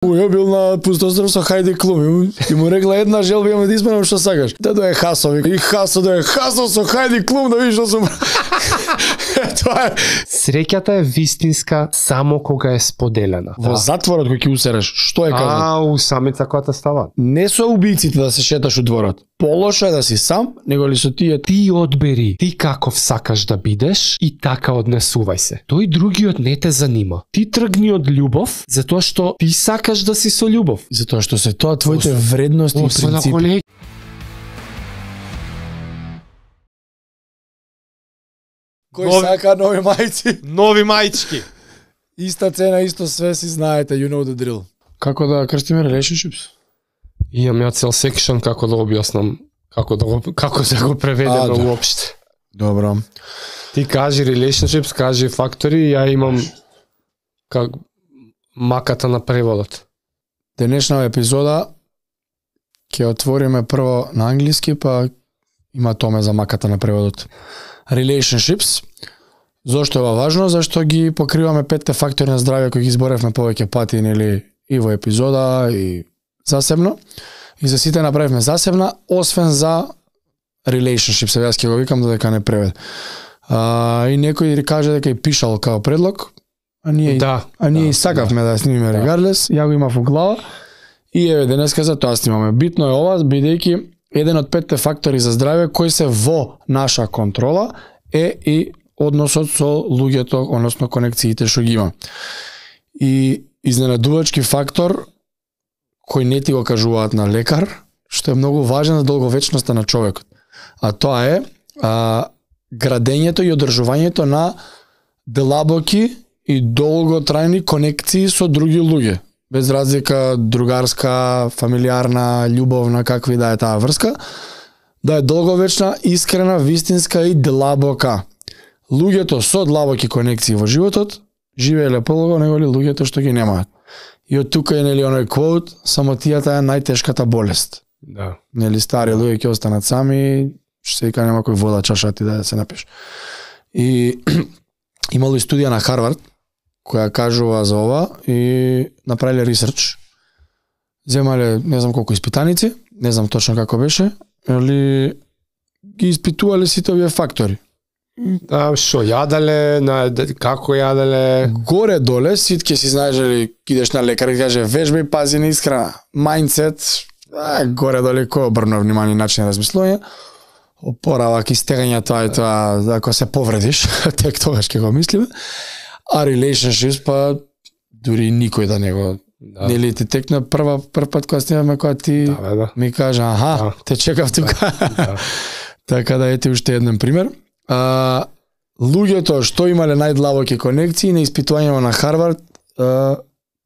Ја бил на пустостров со Хајди Клум и му рекла една желба имаме да исполнам што сакаш. Да дое Хасо, и Хасо дое Хасо со Хајди Клум да видиш што сум. Тоа е. Среќата е вистинска само кога е споделена. Во затворот кој ќе усереш, што е казано? У самица која те става. Не со убиците да се шеташ у дворот. Полошо е да си сам, него ли со тие. Ти одбери, ти каков сакаш да бидеш и така однесувај се. Тој другиот не те занима. Ти тргни од љубов, затоа што ти сакаш да си со љубов. Затоа што се тоа твоите вредности и принципи. Кој сака нови мајци? Нови мајчки. Иста цена, исто све, си знаете, you know the drill. Како да крстиме relationships? Имам ја цел секшн како да објаснам, како да го преведеме уопште. Добро. Ти кажи relationships, кажи фактори, ја имам как маката на преводот. Денешна епизода ќе отвориме прво на англиски, па има томе за маката на преводот. Relationships. Зошто е ова важно? Зашто ги покриваме 5 фактори на здравје кои ги изборевме повеќе пати, нели, и во епизода и засебно. И за сите направивме засебна, освен за relationships, јас ќе го викам додека не превед. И некој каже дека и пишал као предлог, а ние и сакавме да снимиме regardless, ја го имав во глава. И еве денеска за тоа снимаме. Битно е ова, бидејќи еден од 5 фактори за здравје кои се во наша контрола е и односот со луѓето, односно конекциите што ги има. И изненадувачки фактор кој не ти го кажуваат на лекар, што е многу важен за долговечноста на човекот. А тоа е градењето и одржувањето на длабоки и долготрајни конекции со други луѓе. Без разлика другарска, фамилиарна, љубовна, какви да е таа врска, да е долговечна, искрена, вистинска и длабока. Луѓето со длабоки конекции во животот живееле подолго него ли луѓето што ги немаат. И од тука е нели оној квот, самотијата е најтешката болест. Да. Нели стари луѓе ќе останат сами, што се вика нема кој вода чаша ти да се напиш. И имало и студија на Харвард која кажува за ова и направиле ресерч. Земале не знам колку испитаници, не знам точно како беше, али ги испитувале сите овие фактори. Што јаделе, како јаделе? Горе доле сит ќе си знаеш дали идеш на лекар и каже вежбај, пази на исхрана, мајндсет, горе доле кој обрна внимание начин на размислување, опоравак и стегање тоа и тоа, ако се повредиш, тек тогаш ќе го мислиме. А relationships па дури никој да не го. Нели ти текна прв пат кога снимаме кога ти ми кажа те чекав тука. Така да ете уште еден пример. Луѓето што имале најдлабоки конекции на испитувањето на Харвард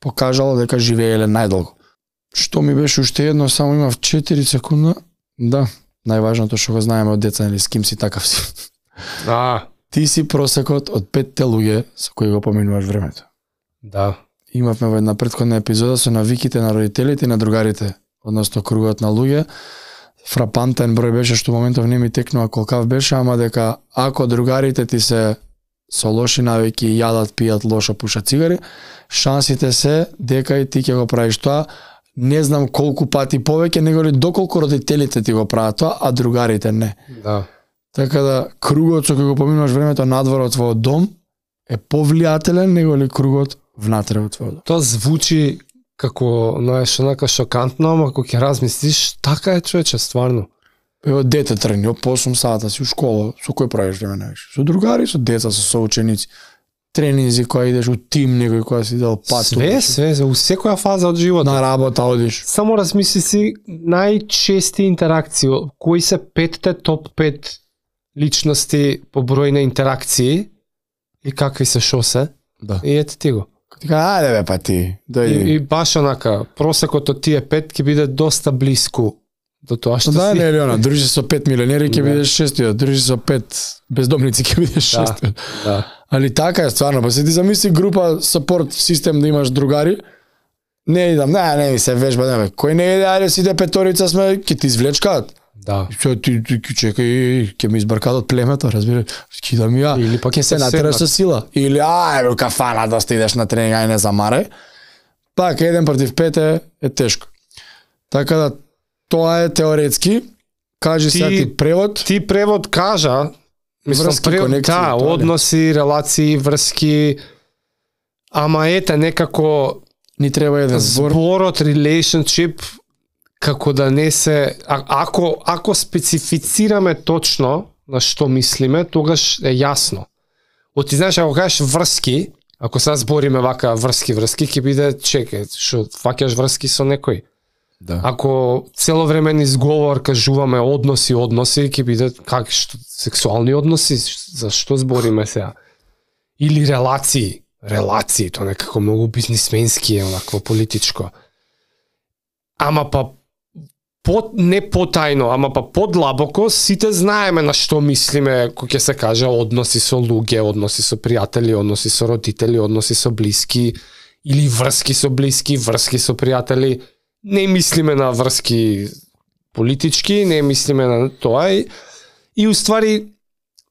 покажало дека живееле најдолго. Што ми беше уште едно, само имав 4 секунда. Да, најважното што го знаеме од деца, нели, с ким си такав си. Ти си просекот од 5 луѓе со кои го поминуваш времето. Да. Имавме во една претходна епизода со навиките на родителите и на другарите, односно кругот на луѓе. Фрапантен број беше што моментов не ми текнува колкав беше, ама дека ако другарите ти се со лоши навики, јадат, пијат, лошо пушат цигари, шансите се дека и ти ќе го правиш тоа, не знам колку пати повеќе, него ли доколку родителите ти го прават тоа, а другарите не. Да. Така да кругот со кој го поминуваш времето надвор од твојот дом е повлијателен него ли кругот внатре од твојот дом. Тоа звучи како, знаеш, онака шокантно, ама ако ќе размислиш, така е, човече, стварно. Ево дете тргни, по 8 сата си у школа, со кој правиш време највише? Со другари, со деца, со соученици. Тренинзи која идеш у тим, некој која си дал пат. Све, у секоја фаза од животот. На работа одиш. Само размисли си најчести интеракции, кои се 5 топ 5 личности по број на интеракции и какви се шо се. Да. И ете ти го. Така, ајде бе па ти. И баш онака, просекот од тие 5 ќе биде доста блиску до тоа што да, си. Да, не, дружи со 5 милионери ќе бидеш 6, дружи со 5 бездомници ќе бидеш 6. Да. Али така е стварно, па се ти замисли група support систем да имаш другари. Не идам, не ми се вежба, не бе. Кој не иде, ајде сите петорица сме, ќе ти извлечкаат. Да. Ти чекај, ќе ми избркаат од племето, разбира. Кидам ја. Или пак ќе се натераш со сила. Или ај, кафана да идеш на тренинг, ај не замарај. Пак 1 против 5 е тешко. Така да тоа е теоретски. Кажи сега ти превод. Ти превод кажа, мислам, врски, конекции, да, односи, релации, врски, ама ете некако ни треба еден збор. Зборот relationship како да не се ако специфицираме точно на што мислиме, тогаш е јасно. Ти знаеш, ако кажеш врски, ако сега збориме вака врски, ќе биде чекај, што фаќаш врски со некој. Да. Ако цело време изговор кажуваме односи, ќе биде как сексуални односи, за што збориме сега? Или релации, тоа некако многу бизнисменски е, онакво политичко. Ама па не потајно, ама па подлабоко сите знаеме на што мислиме кога ќе се каже односи со луѓе, односи со пријатели, односи со родители, односи со блиски или врски со блиски, врски со пријатели. Не мислиме на врски политички, не мислиме на тоа и уствари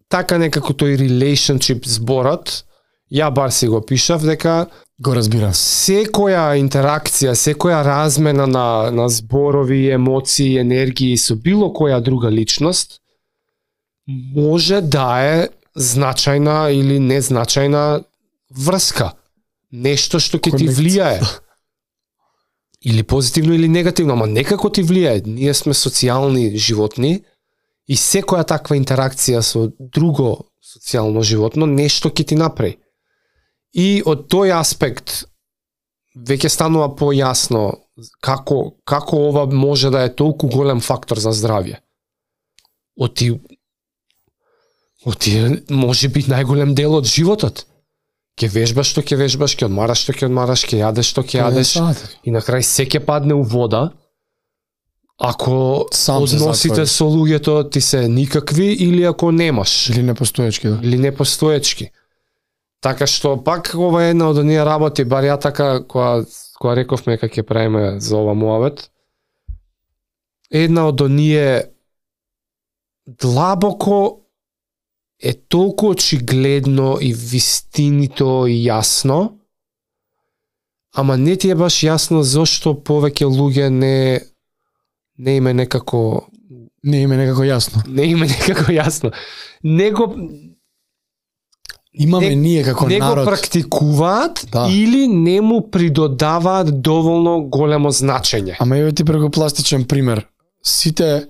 така некако тој relationship зборот, ја бар си го пишав дека го разбирам. Секоја интеракција, секоја размена на зборови, емоции, енергии со било која друга личност може да е значајна или незначајна врска. Нешто што ќе ти влијае. Или позитивно или негативно, ама некако ти влијае. Ние сме социјални животни и секоја таква интеракција со друго социјално животно нешто ќе ти направи. И од тој аспект веќе станува појасно како ова може да е толку голем фактор за здравје. Оти може би најголем дел од животот. Ке вежбаш што ке вежбаш, ке одмараш што ке одмараш, ке јадеш што ке јадеш и на крај се ке падне у вода. Ако односите со луѓето ти се никакви или ако немаш. Или непостоечки, да. Или непостоечки. Така што пак ова е една од оние работи, бар ја така која рековме како ќе правиме за ова муавет. Една од оние длабоко е толку очигледно и вистинито и јасно, ама не ти е баш јасно зошто повеќе луѓе не име некако јасно. Не име некако јасно. Имаме ние како не народ. Не го практикуваат, да. Или не му придодаваат доволно големо значење. Ама еве ти преку пластичен пример. Сите,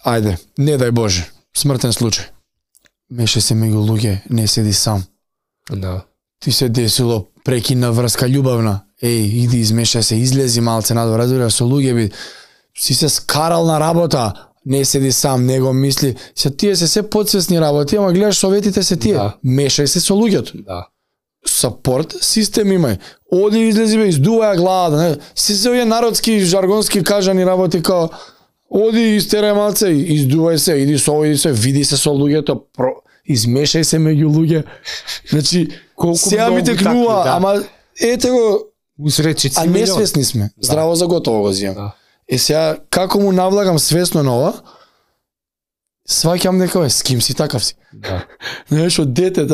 ајде, не дај Боже, смртен случај. Меше се меѓу луѓе, не седи сам. Да. Ти се десило прекина врска љубавна. Иди измешај се, излези малце надвор, разбира со луѓе би. Си се скарал на работа, не седи сам, не го мисли. Тие се подсвесни работи, ама гледаш советите се тие. Да. Мешај се со луѓето. Да. Сапорт систем имај. Оди излези бе, издувај главата, не. Си се овие народски жаргонски кажани работи као оди истерај малце, издувај се, иди со овој, види се со луѓето, измешај се меѓу луѓе. Значи, сега ми текнува, да. Ама ете го, усречици, а несвесни сме. Да. Здраво за готово го зијам. Да. Сега, како му навлагам свесно на ова, сваќам дека с ким си, такав си. Да. Знаеш, од дете,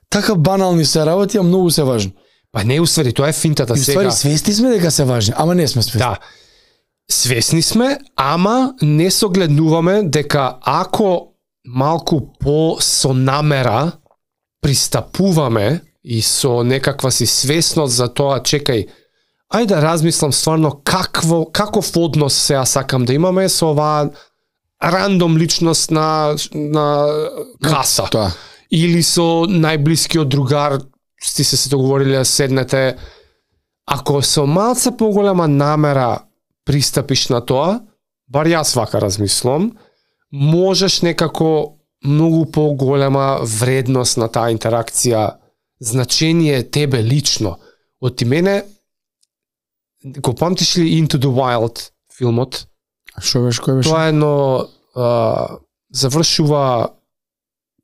така банални се работи, а многу се важни. Па не, усвари, тоа е финтата сега. Усвари, свесни сме дека се важни, ама не сме свесни. Да. Свесни сме, ама не согледнуваме дека ако малку со намера пристапуваме и со некаква си свесност за тоа, чекај, ајде да размислам стварно каков однос сега сакам да имаме со оваа рандом личност на каса. Тоа. Или со најблискиот другар, сте се договориле да седнете. Ако со малце поголема намера пристапиш на тоа, бар јас вака размислам, можеш некако многу поголема вредност на таа интеракција, значение тебе лично. Од ти мене, го памтиш ли Into the Wild филмот? Шо беше, кој беше? Тоа е едно завршува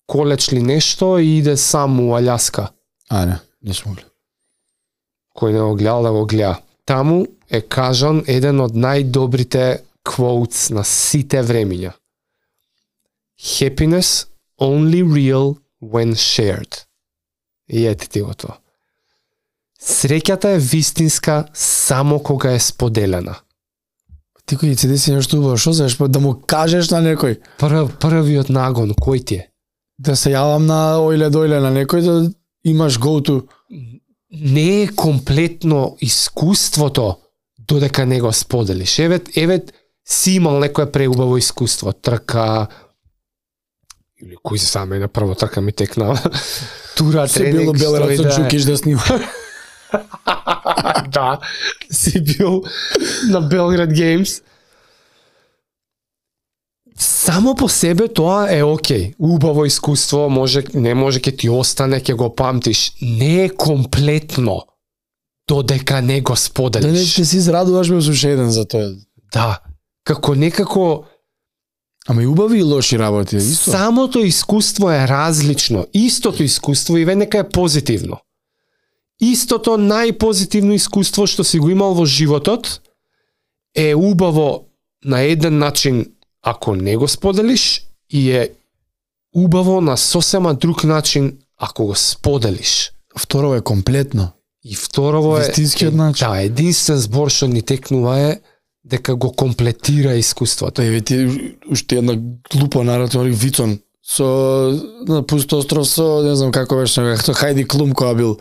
колеч ли нешто и иде сам у Аљаска. Не сум гледал. Кој не го гледал, да го гледа. Таму е кажан еден од најдобрите quotes на сите времиња. Happiness only real when shared. И ете ти го тоа. Среќата е вистинска само кога е споделена. Ти кој ти деси нешто убаво, што знаеш, да му кажеш на некој? Првиот нагон, кој ти е? Да се јавам на дојле на некој, да имаш go-to. Не е комплетно искуството додека не го споделиш. Еве си имал некое преубаво искуство, трка, или кој се саме на прво трка ми текна, тура, Се тренинг, било Белград со Джукиш да снима. Да, си бил на Белград Геймс. Само по себе тоа е окей. Убаво искуство, не може ќе ти остане, ќе го памтиш. Не е комплетно додека не го споделиш. Да не ќе си израдуваш ме со еден за тоа. Да, како некако Ама и убави и лоши работи, исто. самото искуство е различно. Истото искуство и нека е позитивно. Истото најпозитивно искуство што си го имал во животот е убаво на еден начин ако не го споделиш и е убаво на сосема друг начин ако го споделиш. Второ е комплетно. И второво е Вистинскиот начин. Да, единствен збор што ни текнува е дека го комплетира искуството. Еве ти уште една глупа наратива Вицон со на пусто остров со не знам како беше, како Хајди Клум која бил.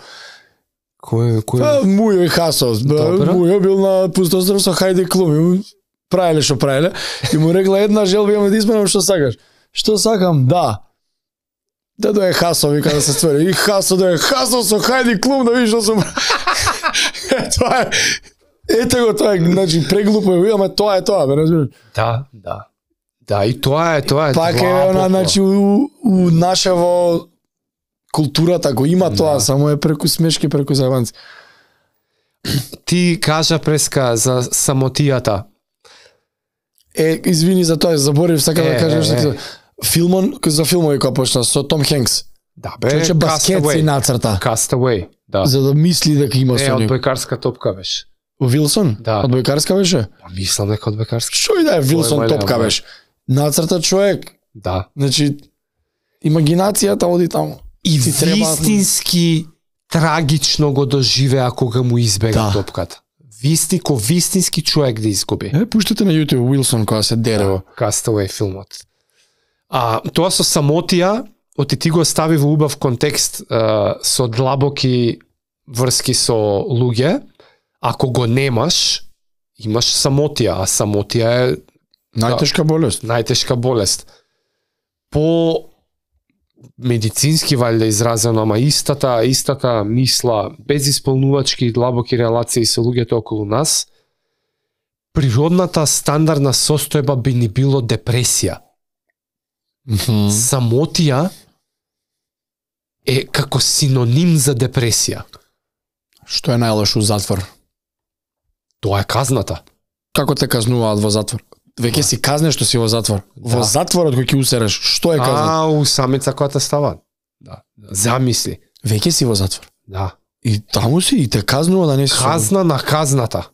Кој Мујо и Хасос. Мујо бил на пусто остров со Хајди Клум. Правеле што правеле. И му рекла една желба имам да исполнам што сакаш. Што сакам? Да. Да дое Хасо, вика да се створи. И Хасо дое Хасо со Хајди Клум да видиш што сум. Тоа е. Ете го тоа, значи преглупо е, ама тоа е тоа, бе, разбираш? Да, да. Да, и тоа е. Пак е она, значи, у нашево културата го има тоа, само е преку смешки, преку зајбанци. Ти кажа преска за самотијата. Извини за тоа, заборив, сака да кажеш што за филмови кој почна со Том Хенкс. Да, бе, Човече баскет си нацрта. Castaway, да. За да мисли дека има со него. Одбојкарска топка беше. Вилсон? Да. Одбојкарска беше? Па мислам дека одбојкарска. Што и да е Вилсон топка беше. Нацрта човек. Да. Значи, имагинацијата оди таму. И вистински трагично го доживеа кога му избега топката. Вистински човек да изгуби. Пуштете на YouTube Уилсон кога се дерево. Castaway филмот. Тоа со самотија, оти ти го стави во убав контекст со длабоки врски со луѓе. Ако го немаш, имаш самотија, а самотија е најтешка болест. Најтешка болест. По медицински валјда изразено, ама истата мисла, без исполнувачки и длабоки релации со луѓето околу нас, природната стандардна состојба би ни било депресија. Самотија е како синоним за депресија. Што е најлошо у затвор? Тоа е казната. Како те казнуваат во затвор? Веќе си казне што си во затвор. Во затворот кој ќе усереш, што е казна? У самица која те става. Да. Замисли. Веќе си во затвор. Да. И таму си и те казнува да не си казна на казната.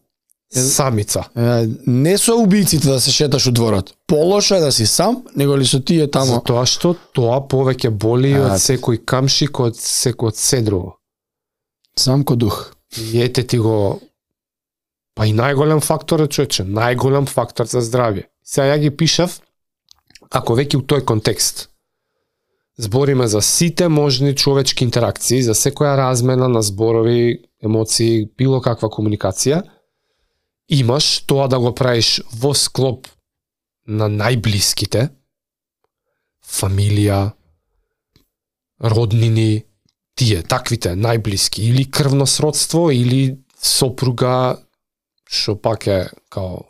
Самица. Не со убиците да се шеташ у дворот. Полошо е да си сам, него ли со тие таму. Затоа што тоа повеќе боли од секој камшик, од секој седрово. Сам ко дух. И ете ти го. Па и најголем фактор е човече, најголем фактор за здравје. Сега ја ги пишав, ако веќе у тој контекст збориме за сите можни човечки интеракции, за секоја размена на зборови, емоции, било каква комуникација, имаш тоа да го правиш во склоп на најблиските, фамилија, роднини, тие, таквите, најблиски, или крвно сродство, или сопруга, што пак е као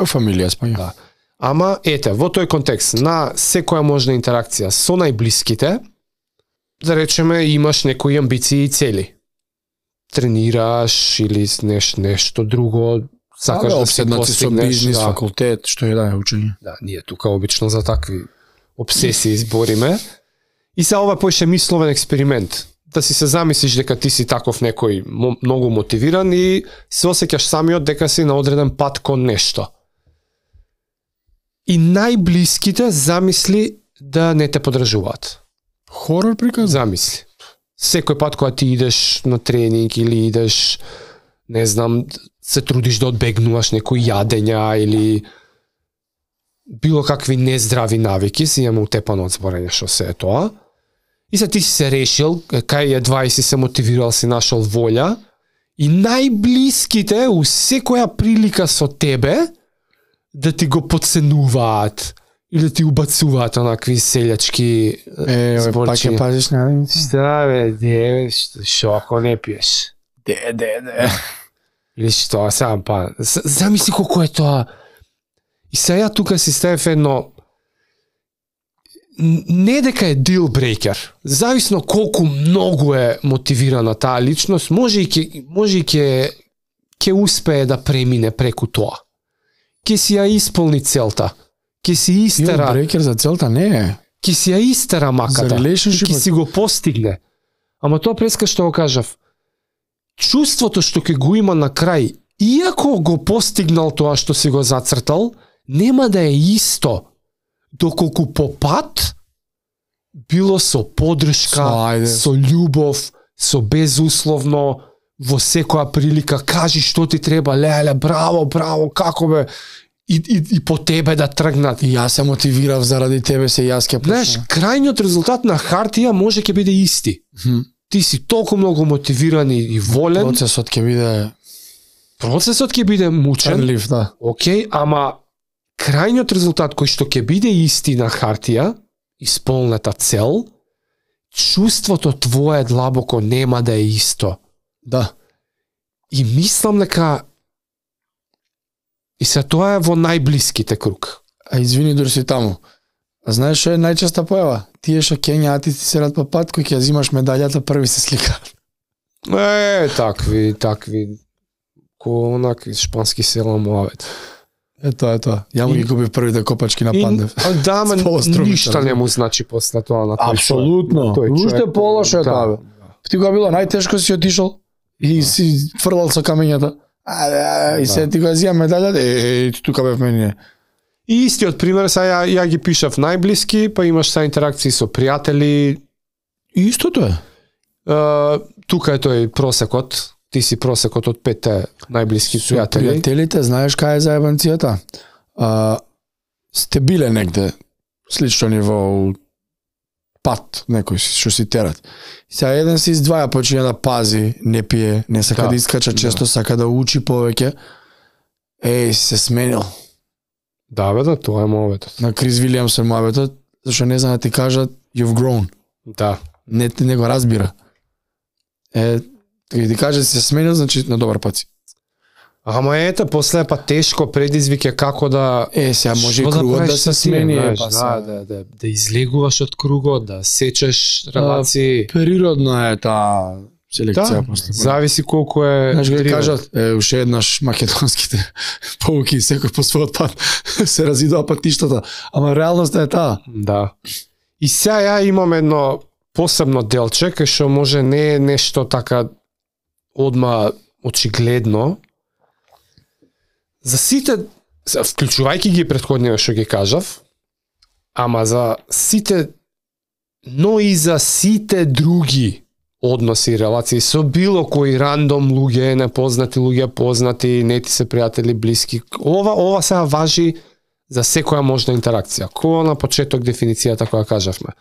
фамилија спаѓа. Да. Ама ете, во тој контекст на секоја можна интеракција со најблиските, да речеме имаш некои амбиции и цели. Тренираш или нешто друго, сакаш да се постигнеш со бизнис, факултет, што е да е учење. Да, ние тука обично за такви обсесии збориме. И се ова поише мисловен експеримент. Да си се замислиш дека ти си таков некој многу мотивиран и се осеќаш самиот дека си на одреден пат кон нешто. И најблиските замисли да не те подржуваат. Хорор приказ? Замисли. Секој пат кога ти идеш на тренинг или идеш, не знам, се трудиш да одбегнуваш некои јадења или било какви нездрави навики, си имаме утепано од зборење што се е тоа. И се ти си се решил, кај едва и си се мотивирал, си нашол волја, и најблиските у секоја прилика со тебе да ти го подценуваат или да ти убацуваат онакви селјачки зборчиња. Пак ја пазиш на... Шта бе, шо ако не пиеш? Де. Или што, сам па, замисли колко е тоа. И сега тука си ставив едно, не дека е deal breaker, зависно колку многу е мотивирана таа личност, може и ќе успее да премине преку тоа. Ќе си ја исполни целта. Ќе си истера. Deal breaker за целта не е. Ќе си ја истера маката. За relationship. Ќе си го постигне. Ама тоа преска што го кажав. Чувството што ќе го има на крај, иако го постигнал тоа што си го зацртал, нема да е исто доколку по пат било со поддршка, со љубов, со безусловно, во секоја прилика кажи што ти треба, леле, браво, како бе, и по тебе да тргнат. И јас се мотивирав заради тебе, се јас ќе почнам. Знаеш, крајниот резултат на хартија може ќе биде исти. Ти си толку многу мотивиран и волен. Процесот ќе биде мучен. Лив, да. Океј, ама крајниот резултат кој што ќе биде исти на хартија, исполнета цел, чувството твое длабоко нема да е исто. Да. И мислам дека и се тоа е во најблиските круг. А извини, дури си таму. А знаеш што е најчеста појава? Тие што кењаати ти се рад по пат, кој ќе ја зимаш медаљата, први се сликаат. Такви. Ко онак шпански села муавет. Тоа. Ја му ги губив првите копачки на Пандев. Да, ма ништа не му значи после тоа на тој. Апсолутно. Уште полошо е тоа. Ти кога било најтешко си отишол и си фрлал со камењата. И се ти го зија медаљата, тука бев мене. И истиот пример, сега ја ги пишав најблиски, па имаш са интеракции со пријатели. Истото е. Тука е тој просекот. Ти си просекот од 5 најблиски пријатели. Пријателите, знаеш кај е заебанцијата? Сте биле негде слично ниво пат, некој што си терат. Сега еден се издваја, почиња да пази, не пие, не сака да искача често, сака да учи повеќе. Се сменил. Да, бе, тоа е моветот. На Крис Вилијамс е моветот, зашто не знам да ти кажат, you've grown. Да. Не го разбира. Ти каже се сменил, значи на добар пат си. Ама ете, после па тешко предизвик е како да... Сега може и кругот да се смени. Да излегуваш од кругот, да сечеш релации. Природно е таа селекција. Зависи колку е... Знаеш, го кажат, уште еднаш македонските поуки, секој по својот пат се разидува патиштата. Ама реалноста е таа. Да. И сега ја имам едно посебно делче, кај што може не е нешто така одма очигледно. За сите, вклучувајќи ги претходниве што ги кажав, ама за сите, но и за сите други односи и релации со било кои рандом луѓе, непознати луѓе, познати, не ти се пријатели, блиски. Ова сега важи за секоја можна интеракција. Која на почеток дефиницијата која кажавме.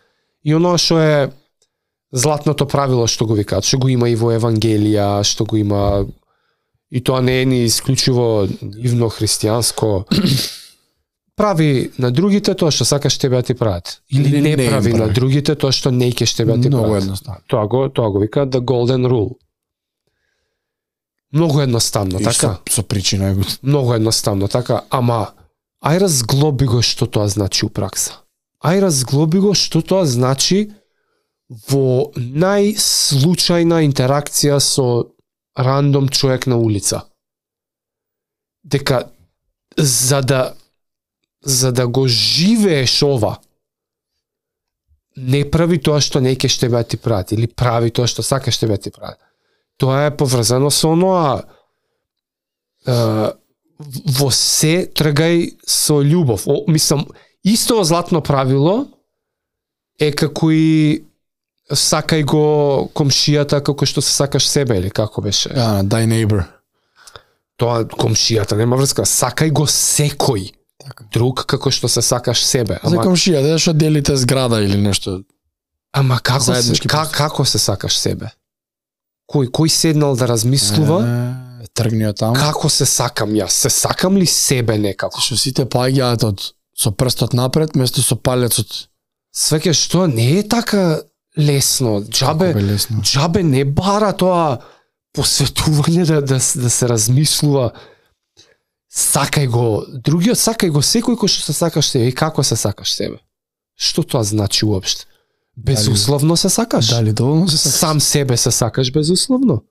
И оно што е златното правило што го викаат, што го има и во Евангелија, што го има и тоа не е ни исклучиво нивно христијанско. Прави на другите тоа што сакаш тебе да ти прават. Или не прави на другите тоа што не ќе тебе да ти прават. Многу едноставно. Тоа го викаат the golden rule. Многу едноставно, така? Со причина е го. Многу едноставно, така? Ама, ај разглоби го што тоа значи у пракса. Ај разглоби го што тоа значи во најслучајна интеракција со рандом човек на улица. Дека за да го живееш ова, не прави тоа што не ќе тебе ти прават, или прави тоа што сакаш тебе ти прават. Тоа е поврзано со оноа во се тргај со љубов. Мислам, исто златно правило е како и сакај го комшијата како што се сакаш себе, или како беше? Ja, thy neighbor. Тоа комшијата нема врска, сакај го секој друг како што се сакаш себе. За комшија, што делите зграда или нешто. Ама како се сакаш себе? Кој седнал да размислува? Тргни од таму. Како се сакам јас? Се сакам ли себе некако? Што сите паѓаат со прстот напред место со палецот. Свеќе што не е така лесно. Џабе не бара тоа посветување да се размислува. Сакај го другиот, сакај го секој кој што се сакаш себе. И како се сакаш себе? Што тоа значи уопште? Безусловно се сакаш? Дали доволно се сакаш? Сам себе се сакаш безусловно?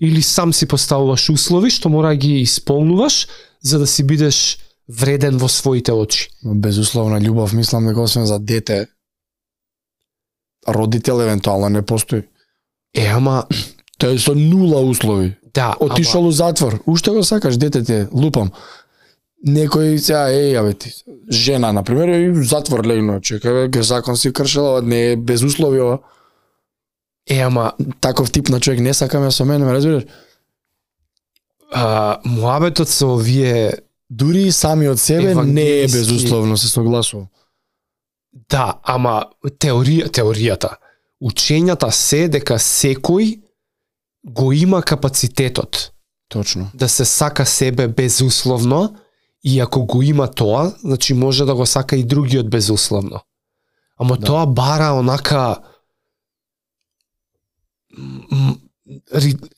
Или сам си поставуваш услови што мора ги исполнуваш за да си бидеш вреден во своите очи? Безусловна љубов, мислам дека освен за дете, родител евентуално не постои. Ама тој е со нула услови. Да, отишол у затвор, уште го сакаш детете, лупам. Некој сега ти жена на пример и в затвор легнува, чекај бе, закон си кршела, не е без услови ова. Ама таков тип на човек не сакаме со мене, ме разбираш? Муабетот со овие дури и сами од себе не е безусловно, се согласувам. Да, ама теоријата, учењата се дека секој го има капацитетот. Точно. Да се сака себе безусловно и ако го има тоа, значи може да го сака и другиот безусловно. Ама да. Тоа бара онака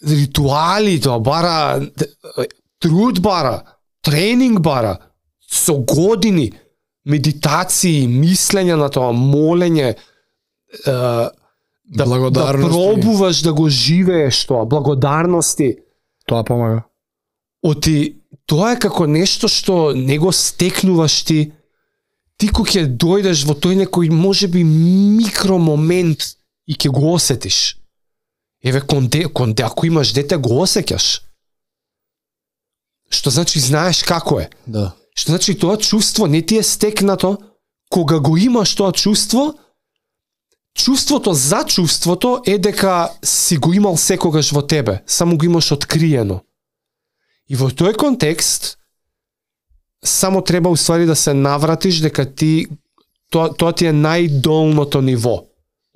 ритуали, тоа бара труд бара, тренинг бара, со години, медитации, мислење на тоа, молење, да пробуваш да го живееш тоа, благодарности. Тоа помага. Тоа е како нешто што не го стекнуваш ти кога ќе дојдеш во тој некој можеби микромомент и ќе го осетиш. Еве конде ако имаш дете го осеќаш. Што значи знаеш како е. Да. Што значи тоа чувство не ти е стекнато, кога го имаш тоа чувство, чувството за чувството е дека си го имал секогаш во тебе, само го имаш откриено. И во тој контекст само треба уствари да се навратиш дека тоа ти е најдолното ниво.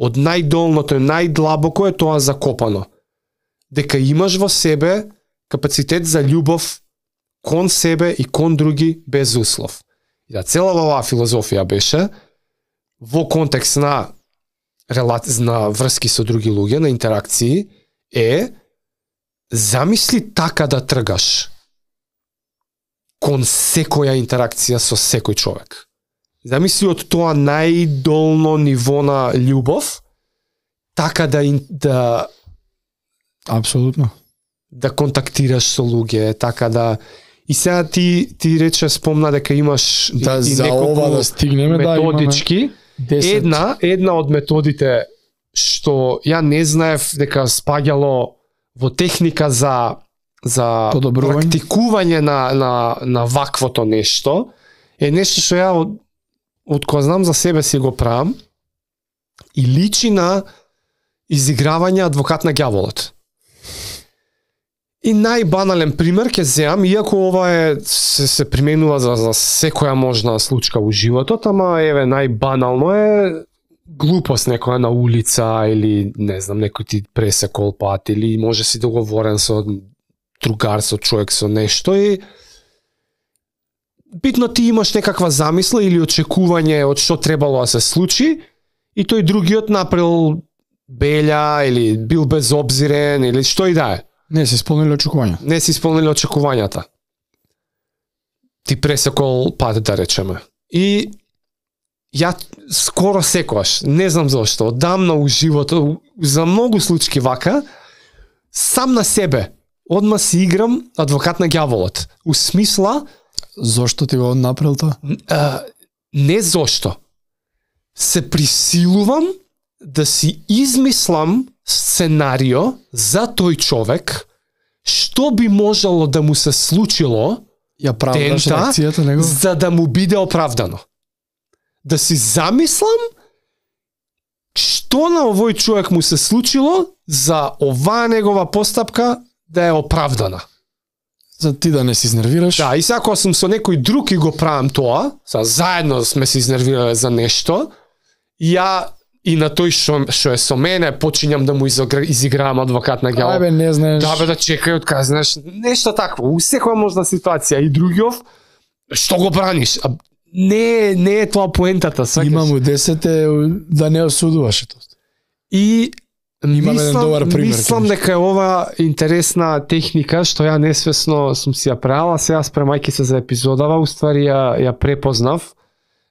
Од најдолното и најдлабоко е тоа закопано. Дека имаш во себе капацитет за љубов кон себе и кон други без услов. И да цела оваа филозофија беше во контекст на врски со други луѓе, на интеракции, замисли така да тргаш кон секоја интеракција со секој човек. Замисли од тоа најдолно ниво на љубов, така да апсолутно да контактираш со луѓе, така да и сега ти рече спомна дека имаш и неколку да стигнеме, методички. Една од методите што ја не знаев дека спаѓало во техника за практикување на ваквото нешто, е нешто што ја од кога знам за себе си го правам и личи на изигравање адвокат на ѓаволот. И најбанален пример ќе земам, иако ова се применува за секоја можна случка во животот, ама еве најбанално е глупост некоја на улица или не знам некој ти пресекол пат или може си договорен со другар, со човек, со нешто и битно ти имаш некаква замисла или очекување од што требало да се случи и тој другиот направил белја или бил безобзирен или што и да е. Не си исполнили очекувања. Не си исполнили очекувањата. Ти пресекол пат, да речеме. И ја скоро секогаш, не знам зошто, одамна у животот, за многу случаи вака, сам на себе, одма си играм адвокат на ѓаволот. У смисла... Зошто ти го направил тоа? Не зошто. Се присилувам да си измислам сценарио за тој човек, што би можело да му се случило за да му биде оправдано. Да си замислам што на овој човек му се случило за оваа негова постапка да е оправдана. За ти да не се изнервираш. Да, и сега кога сум со некој друг и го правам тоа, заедно сме се изнервирале за нешто, ја и на тој што е со мене почињам да му изигравам адвокат на ѓавот. Ајбе, не знаеш. Да, бе, да чекај од кај, знаеш, нешто такво, у секоја можна ситуација. И другиов, што го браниш? Не е тоа поентата, сваќаш. Имам у 10 да не осудуваш тоа. И мислам дека е ова интересна техника што ја несвесно сум си ја правила, сега спремајќи се за епизодава, уствари ја препознав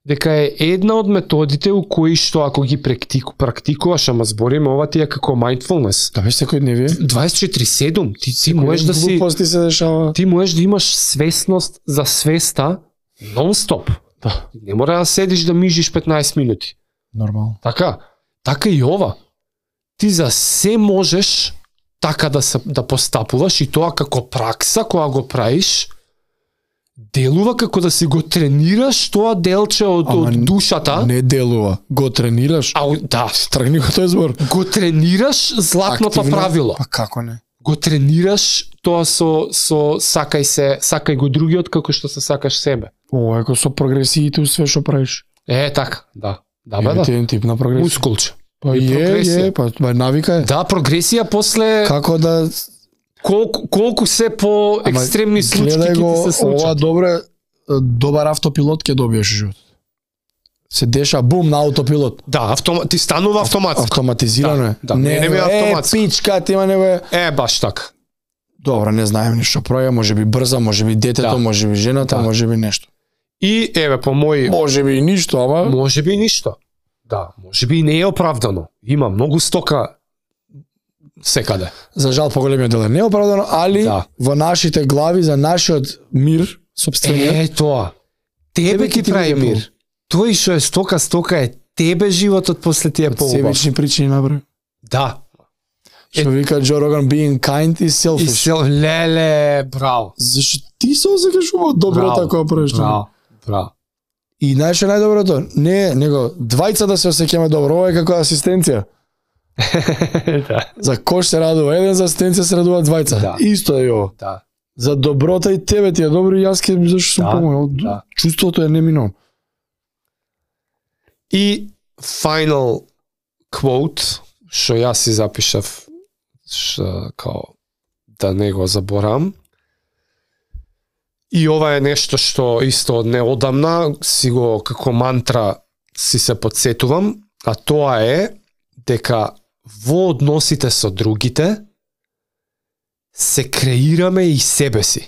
дека е една од методите у кои што ако ги практикуваш, ама збориме ова ти е како mindfulness. Да, веќе секој дневие. 24/7 ти можеш да си се дешава. Ти можеш да имаш свесност за свеста нон-стоп. Да. Не мора да седиш да мижиш 15 минути. Нормално. Така и ова. Ти за се можеш така да постапуваш и тоа како пракса кога го правиш делува како да си го тренираш тоа делче од душата. Не делува, го тренираш. Да, тргни го тој збор. Го тренираш златното правило. Па како не? Го тренираш тоа со сакај го другиот како што се сакаш себе. Ова е како со прогресиите све што правиш. Така, да. Да, бе, да. Еден тип на прогресија. Мускулче. Па па навика е. Да, прогресија после како да колку се по екстремни случаи ќе ти се случат. Ова добар автопилот ќе добиеш живот. Се деша бум на автопилот. Да, ти станува автоматски. Автоматизирано е. Да, не е автоматски. Пичка, ти има него е баш така. Добро, не знаем ништо прави, можеби брза, можеби детето, можеби жената, можеби нешто. И еве по мој можеби и ништо, ама можеби и ништо. Да, можеби и не е оправдано. Има многу стока секаде. За жал поголемиот дел е неоправдано, али во нашите глави за нашиот мир сопствениот. Тоа. Тебе ќе прави мир. Тој што е стока е тебе животот после тие поубав. Себични причини направи. Да. Што вика Джо Роган, being kind is selfish. Леле, браво. Зашто ти се осекаш добро така правиш. Браво. И знаеш најдоброто, не него двајца да се осеќаме добро, ова е како асистенција. Да. За кош се радува еден, за асистенција се радува двајца. Да. Исто е ово. Да. За доброта и тебе ти е добро и јас ќе зашто сум помогнал. Да. Чувството е неминовно. И final quote што јас си запишав као да не го заборам. И ова е нешто што исто од неодамна си го како мантра си се подсетувам, а тоа е дека во односите со другите се креираме и себе си.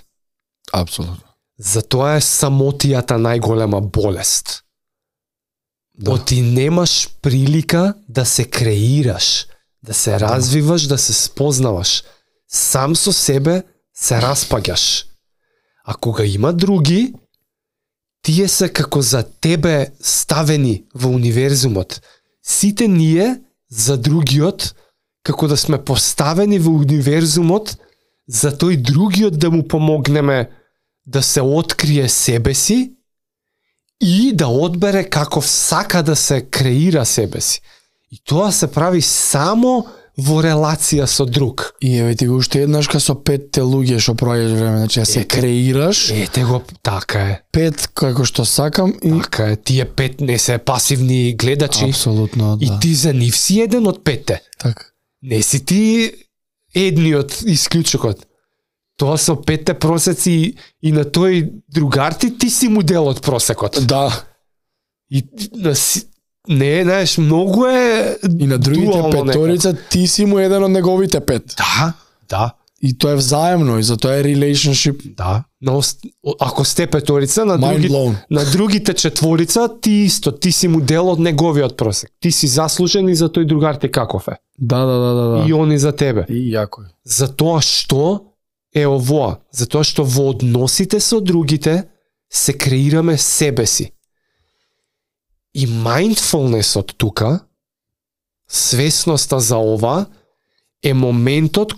Апсолутно. Затоа е самотијата најголема болест. Да. Ти немаш прилика да се креираш, да се развиваш, да се спознаваш. Сам со себе се распаѓаш. А кога има други, тие се како за тебе ставени во универзумот. Сите ние за другиот, како да сме поставени во универзумот, за тој другиот да му помогнеме да се открие себе си и да одбере каков сака да се креира себе си. И тоа се прави само во релација со друг. И еве ти го уште еднаш со 5 луѓе што проаѓаш време, значи се креираш. Ете го, така е. 5 како што сакам и така е, тие 5 не се пасивни гледачи. Апсолутно, да. И ти за нив си еден од 5. Така. Не си ти едниот исклучокот. Тоа со 5 просеци и на тој другар ти си му дел од просекот. Да. И не, знаеш, многу е и на другите петорица ти си му еден од неговите 5. Да. И тоа е взаемно и затоа е relationship. Да. Ако сте петорица, на другите 4 ти исто, ти си му дел од неговиот просек. Ти си заслужен и за тој другар ти каков е. Да. И они за тебе. И јако е. Затоа што е овоа? Затоа што во односите со другите се креираме себе си. И mindfulnessот тука, свесноста за ова, е моментот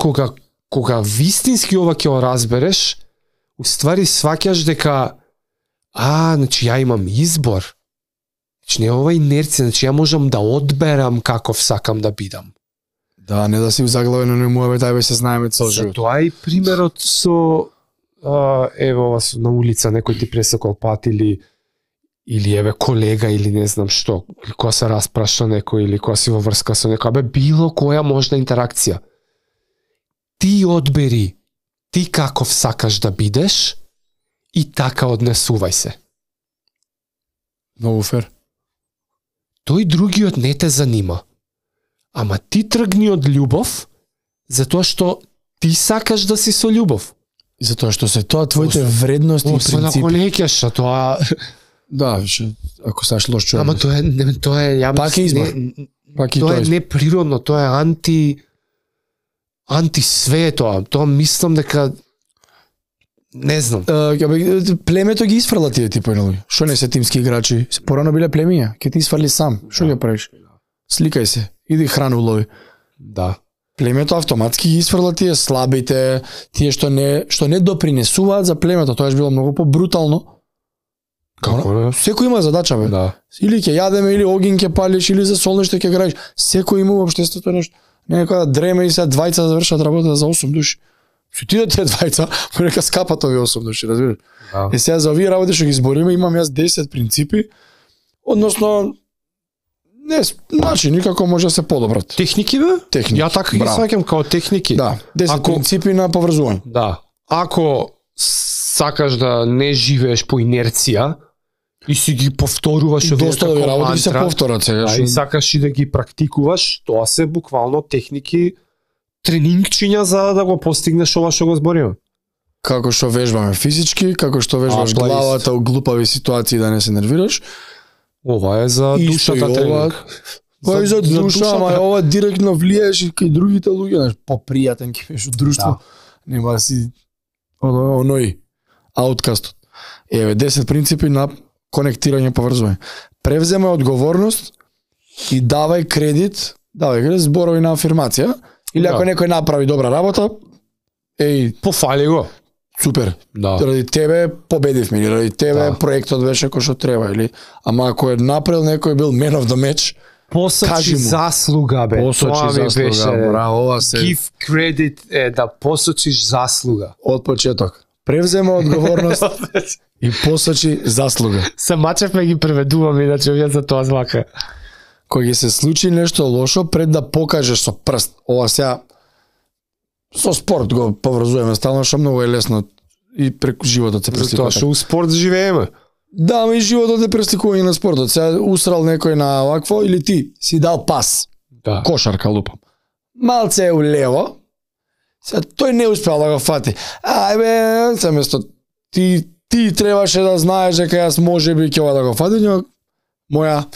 кога вистински ова ќе го разбереш, уствари сваќаш дека значи ја имам избор. Значи не ова инерција, значи ја можам да одберам каков сакам да бидам. Да, не да си заглавено не му тај се знаеме цел живот. Затоа и примерот со ево ова на улица некој ти пресекол пат или еве колега или не знам што, или кога се распраша некој или кога си во врска со некој, било која можна интеракција. Ти одбери, ти каков сакаш да бидеш и така однесувај се. Многу фер. Тој другиот не те занима. Ама ти тргни од љубов, затоа што ти сакаш да си со љубов. И затоа што се тоа твоите вредности и принципи. Освен ако не кеш, тоа... Да, више, ако саш лош човек. Ама тоа е ја пак е избор. Пак и тоа е тоа. неприродно, тоа е анти све тоа. Тоа мислам дека не знам. Племето ги исфрла тие типови луѓе. Што не се тимски играчи? Порано биле племиња, ќе ти исфрли сам. Што ќе правиш? Сликај се, иди храну лови. Да. Племето автоматски ги исфрла тие слабите, тие што не допринесуваат за племето. Тоа е било многу побрутално. Како не? Секој има задача, бе. Да. Или ќе јадеме, или огин ќе палиш, или за солниште ќе граиш. Секој има во општеството нешто. Некоја да дреме и сега двајца завршат работа за 8 души. Што ти тие двајца, нека скапат овие 8 души, разбираш? Да. Е сега за овие работи што ги збориме, имам јас 10 принципи, односно не, значи никако може да се подобрат. Техники бе? Техники. Ја така ги сваќам као техники. Да, 10 принципи на поврзување. Да. Ако сакаш да не живееш по инерција и си ги повторуваш овие доста овие работи се повторат сега. Да, и сакаш и да ги практикуваш, тоа се буквално техники, тренингчиња за да го постигнеш ова што го збориме. Како што вежбаме физички, како што вежбаш главата у глупави ситуации да не се нервираш. Ова е за душата тренинг. Ова е за душа, ама ова директно влиеш и кај другите луѓе, знаеш, попријатен ќе беше друштво. Да. Нема си оној ауткастот. Еве 10 принципи на конектирање и поврзување. Превземај одговорност и давај кредит, зборови на афирмација, или ако некој направи добра работа, пофали го. Супер. Да. Ради тебе победивме, или ради тебе проектот беше кој што треба, или ама ако е направил некој бил man of the match, посочи заслуга бе. Посочи заслуга, беше, браво, ова се. Give credit е да посочиш заслуга. Од почеток. Превзема одговорност и посочи заслуга. Се мачевме ги преведуваме, иначе овие за тоа злака. Кој ќе се случи нешто лошо, пред да покажеш со прст. Ова сега со спорт го поврзуваме стално, што многу е лесно и преку животот се пресликува. Затоа што у спорт живееме. Да, ама и животот е пресликување на спортот. Сега усрал некој на вакво или ти си дал пас. Да. Кошарка лупам. Малце е улево. Сега тој не успеал да го фати. Ајбе, се место ти требаше да знаеш дека јас можеби ќе ова да го фатам, моја.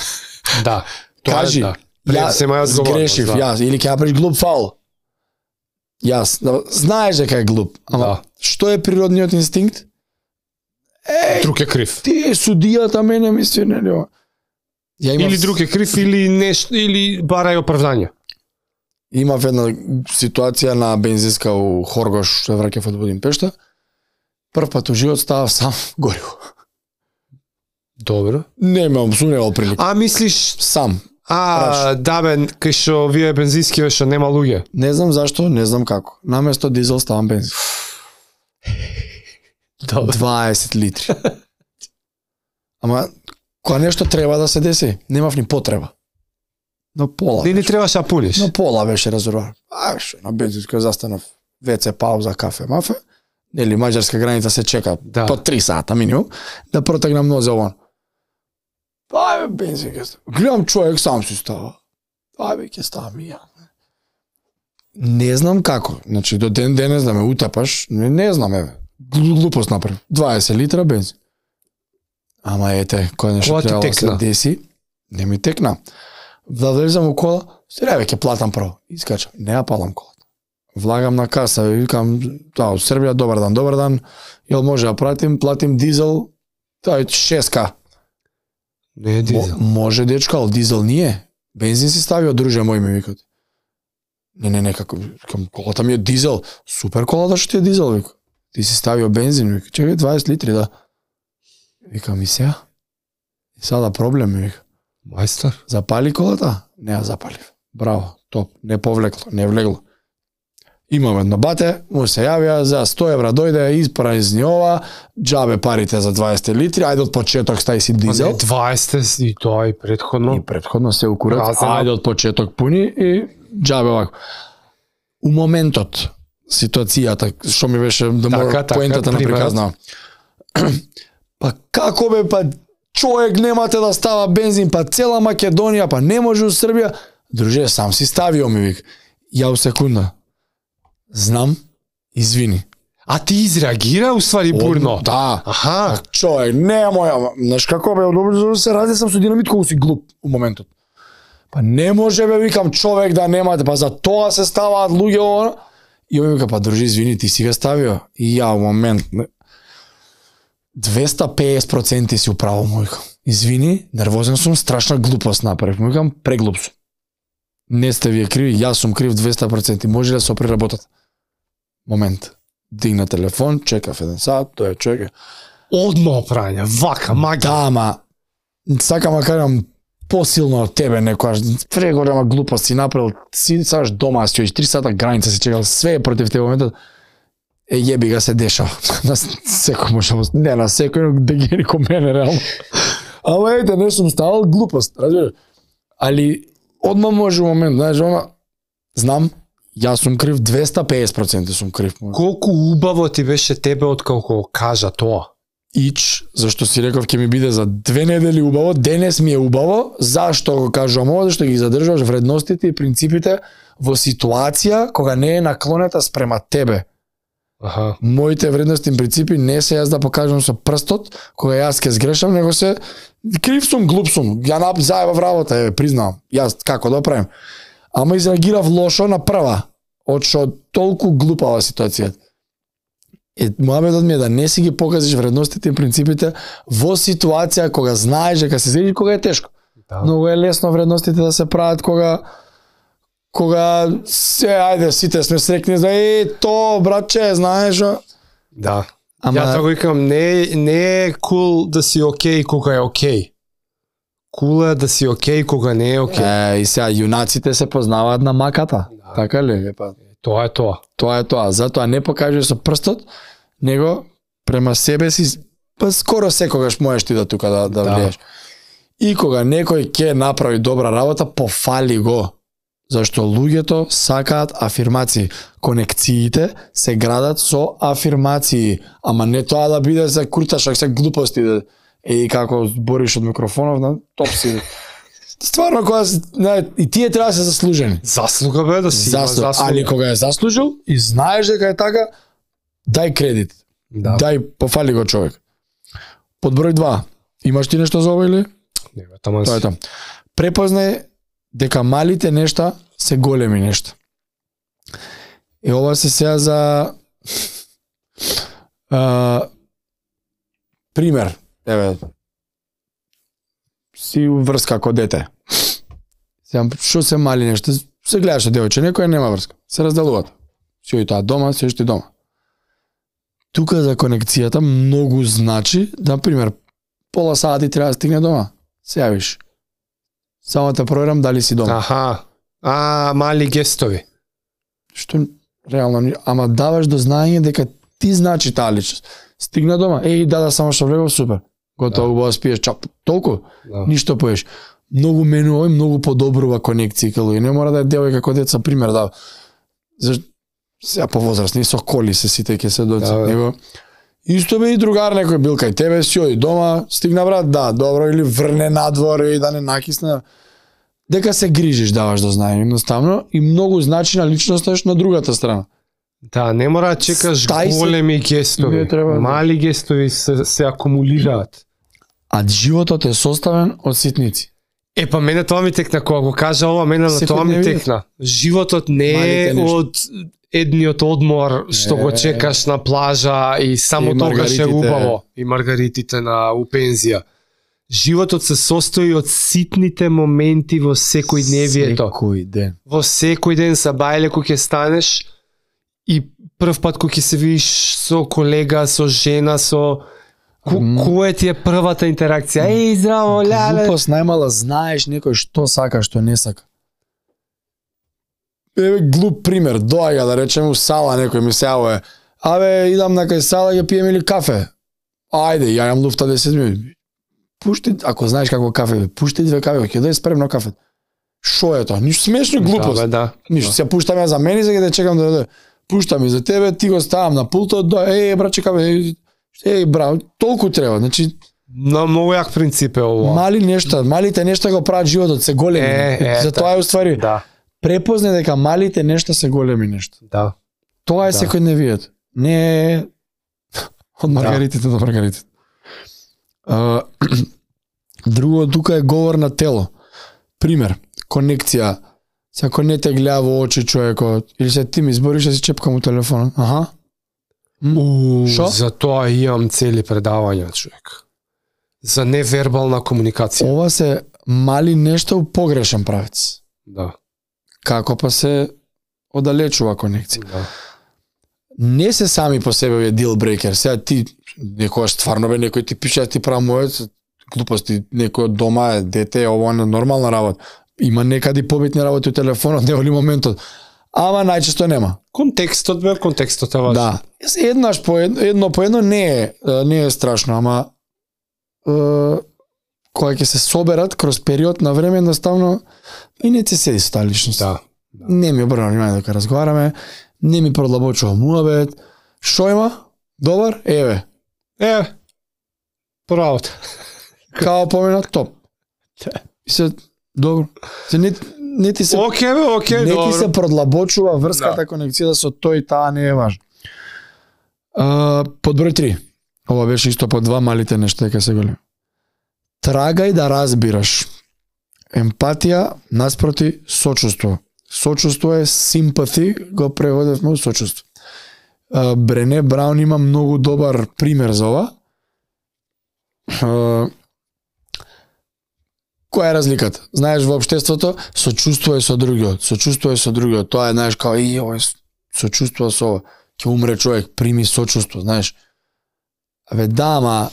Да. Кажи, јас сгрешив, јас, или ќе направиш глуп фаул. Јас, знаеш дека е глуп, ама што е природниот инстинкт? Друг е крив. Ти е судијата, мене ми се нели ова. Или друг е крив, или нешто, или барај оправдање. Имав една ситуација на бензинска у Хоргош, што враќав од Будимпешта. Прв пат у живот ставав сам гориво. Добро. Не имам сумневал прилика. Мислиш сам? Да бе, кај што вие бензински беше нема луѓе. Не знам зашто, не знам како. Наместо дизел ставам бензин. 20 литри. Ама кога нешто треба да се деси, немав ни потреба. На пола. Не требаше да пуниш. На пола беше резервоар. На бензинска застанав, ВЦ пауза, кафе, мафе. Нели маđарска граница се чека по 3 сата минимум да протегнам нозе ован. Ајбе бензинка. Гледам човек сам си става. Ајбе ќе ставам и ја. Не знам како. Значи до ден денес да ме утапаш, не знам еве. Глупост направи. 20 литра бензин. Ама ете, кој нешто треба да се деси, не ми текна. Да влезам у кола, сега ќе платам прво. Искачам, не ја палам колата. Влагам на каса, викам, од Србија, добар дан, јел може да платим дизел, тоа е 6К. Не е дизел. Може дечка, ал дизел nije. Бензин си ставио, друже мој ми викат. Не, како, колата ми е дизел. Супер колата што ти е дизел, вика. Ти си ставио бензин, вика. Чекај, 20 литри, да. Викам, и сега? И сада проблем, вика. Мајстор. Запали колата? Не ја запалив. Браво, топ, не повлекло, не влегло. Имаме едно бате, му се јавија за 100 евра дојде, испразни ова, џабе парите за 20 литри, ајде од почеток стај си дизел. 20 и тоа и претходно. И претходно се укурат, Разено. ајде од почеток пуни и џабе вако. У моментот, ситуацијата, што ми беше да мора поентата на приказна. Па како бе, па човек немате да става бензин, па цела Македонија, па не може у Србија. Друже, сам си ставио ми вик. Ја у секунда. Знам, извини. А ти изреагира уствари бурно? Да. Аха. Човек, немој, знаеш како бе, добро се ради сам со динамит колку си глуп у моментот. Па не може бе, викам, човек да немате, па за тоа се ставаат луѓе ова. И овој вика, па дружи, извини, ти си га ставио. И ја у момент 250% си управо, му викам. Извини, нервозен сум, страшна глупост направив. Му викам, преглуп сум. Не сте вие криви, јас сум крив 200%. Може да се преработат. Момент. Дигна телефон, чекав 1 сат, тој е човек. Одно прања, вака, магија. Да, ама сакам да кажам посилно од тебе некојаш преголема глупост си направил. Си саш дома стоиш 3 сата граница си чекал, све е против тебе моментот. Јеби га се дешава. На секој може, не на секој, но да ги ко мене реално. Ама ете, не сум ставал глупост, разбираш? Али одма може момент, знаеш, знам, јас сум крив 250% сум крив. Колку убаво ти беше тебе откако кажа тоа? Ич, зашто си реков ќе ми биде за 2 недели убаво, денес ми е убаво, зашто го кажувам ова, зашто ги задржуваш вредностите и принципите во ситуација кога не е наклонета спрема тебе. Аха. Моите вредности и принципи не се јас да покажам со прстот, кога јас ќе сгрешам, него се крив сум, глуп сум, ја заебав работа, признавам, јас како да правим. Ама изреагирав лошо на прва, од што толку глупава ситуација. Мојабедот ми е да не си ги покажеш вредностите и принципите во ситуација кога знаеш дека се зрели, кога е тешко. Да. Многу е лесно вредностите да се прават кога се, ајде, сите сме срекни за то, братче, знаеш. Да. Ама Ја тоа го викам, не е кул да си окей кога е окей. Кул е да си окей кога не е окей. И сега јунаците се познаваат на маката. Да. Така ли? Па, Тоа е тоа. тоа е тоа. Затоа не покажеш со прстот, него према себе си, па скоро секогаш можеш ти да тука да влиеш. И кога некој ќе направи добра работа, пофали го. Зашто луѓето сакаат афирмации. Конекциите се градат со афирмации. Ама не тоа да биде за курташак, се глупости. И како збориш од микрофонов, на топ си. Стварно, кога и тие треба да се заслужени. Заслуга бе да си заслуга. Али кога е заслужил и знаеш дека е така, дај кредит. Да. Дај, пофали го човек. Под број 2. Имаш ти нешто за ова или? Не, таман Тоа е тоа. Препознај дека малите нешта се големи нешта. И ова се сега за пример. Еве, си врска како дете. Сега, што се мали нешта? Се гледаш од девојче, некој нема врска. Се разделуваат. Си оди таа дома, си оди дома. Тука за конекцијата многу значи, например, пола сати треба да стигне дома. Се јавиш. Само те проверам дали си дома. Аха. Мали гестови. Што реално, ама даваш до знаење дека ти значи таа личност. Стигна дома, да, само што влегов, супер. Готово, убаво спиеш, чап, толку, ништо поеш. Многу менува и многу подобрува конекција кај луѓе. Не мора да е девојка како деца, пример, да. Сега повозрастни, со коли се сите ќе се доци. Него, исто бе и другар некој бил кај тебе, си оди дома, стигна брат, да, добро, или врне надвор и да не накисне. Дека се грижиш, даваш до знаење, едноставно, и многу значи на личноста на другата страна. Да, не мора да чекаш големи гестови. Мали гестови се акумулираат. А животот е составен од ситници. Па мене тоа ми текна, кога го кажа ова, мене на тоа ми текна. Животот не е од едниот одмор што го чекаш на плажа и само тогаш е убаво. И маргаритите на у пензија. Животот се состои од ситните моменти во секојдневието. Секој ден. Во секој ден са бајле кој ќе станеш и прв пат кој ќе се видиш со колега, со жена, со Која ти е првата интеракција? Еј, здраво, леле. Глупост најмала, знаеш некој што сака, што не сака. Еве глуп пример, доаѓа да речеме у сала некој ми се јавува. Абе, идам на кај сала ќе пиеме или кафе. Ајде, ја имам луфта 10 минути. Пушти, ако знаеш како кафе, пушти 2 кафе, ќе да е спремно кафе. Шо е тоа? Ништо смешно, глупост. Да. Ништо, се пуштам ја за мене, сега да чекам да дојде. Пуштам и за тебе, ти го ставам на пултот, браче кафе. Браво, толку треба, значи На многу јак принцип е ова. Малите нешта го прават животот се големи. Затоа е уствари. Да. Препозне дека малите нешта се големи нешта. Да. Тоа е секојдневието. Не е од маргаритите до маргаритите. Друго тука е говор на тело. Пример, конекција. Ако не те гледа во очи човекот, или се ти ми избориш да си чепкам у телефонот. Аха. Шо? За тоа имам цели предавања, човек. За невербална комуникација. Ова се мали нешта у погрешен правец. Да. Како па се оддалечува конекција. Да. Не се сами по себе е deal breaker. Сега ти некојаш стварно бе некој ти пише ти прави мојот глупости, некој од дома е дете, ова е нормална работа. Има некади побитни работи у телефонот, не оли моментот. Ама најчесто нема. Контекстот е важен. Да. Еднаш по едно не е страшно, ама кога ќе се соберат кроз период на време едноставно и не ти седи со таа личност. Да. Не ми обрна внимание дека разговараме, не ми продлабочува муабет. Шо има? Добар? Еве. Правото. Као помена, топ. И се добро. Се не ти се Океј, не добро. ти се продлабочува врската конекција со тој и таа не е важно. Под број 3. Ова беше исто по 2 малите нешта дека се големи. Трагај да разбираш. Емпатија наспроти сочувство. Сочувство е sympathy, го преводевме сочувство. Брене Браун има многу добар пример за ова. Која е разликата? Знаеш, во општеството сочувствувај со другиот. Сочувствувај со другиот. Тоа е, знаеш, као ова сочувствува со ова. Ќе умре човек, прими сочувство, знаеш. Абе да, ама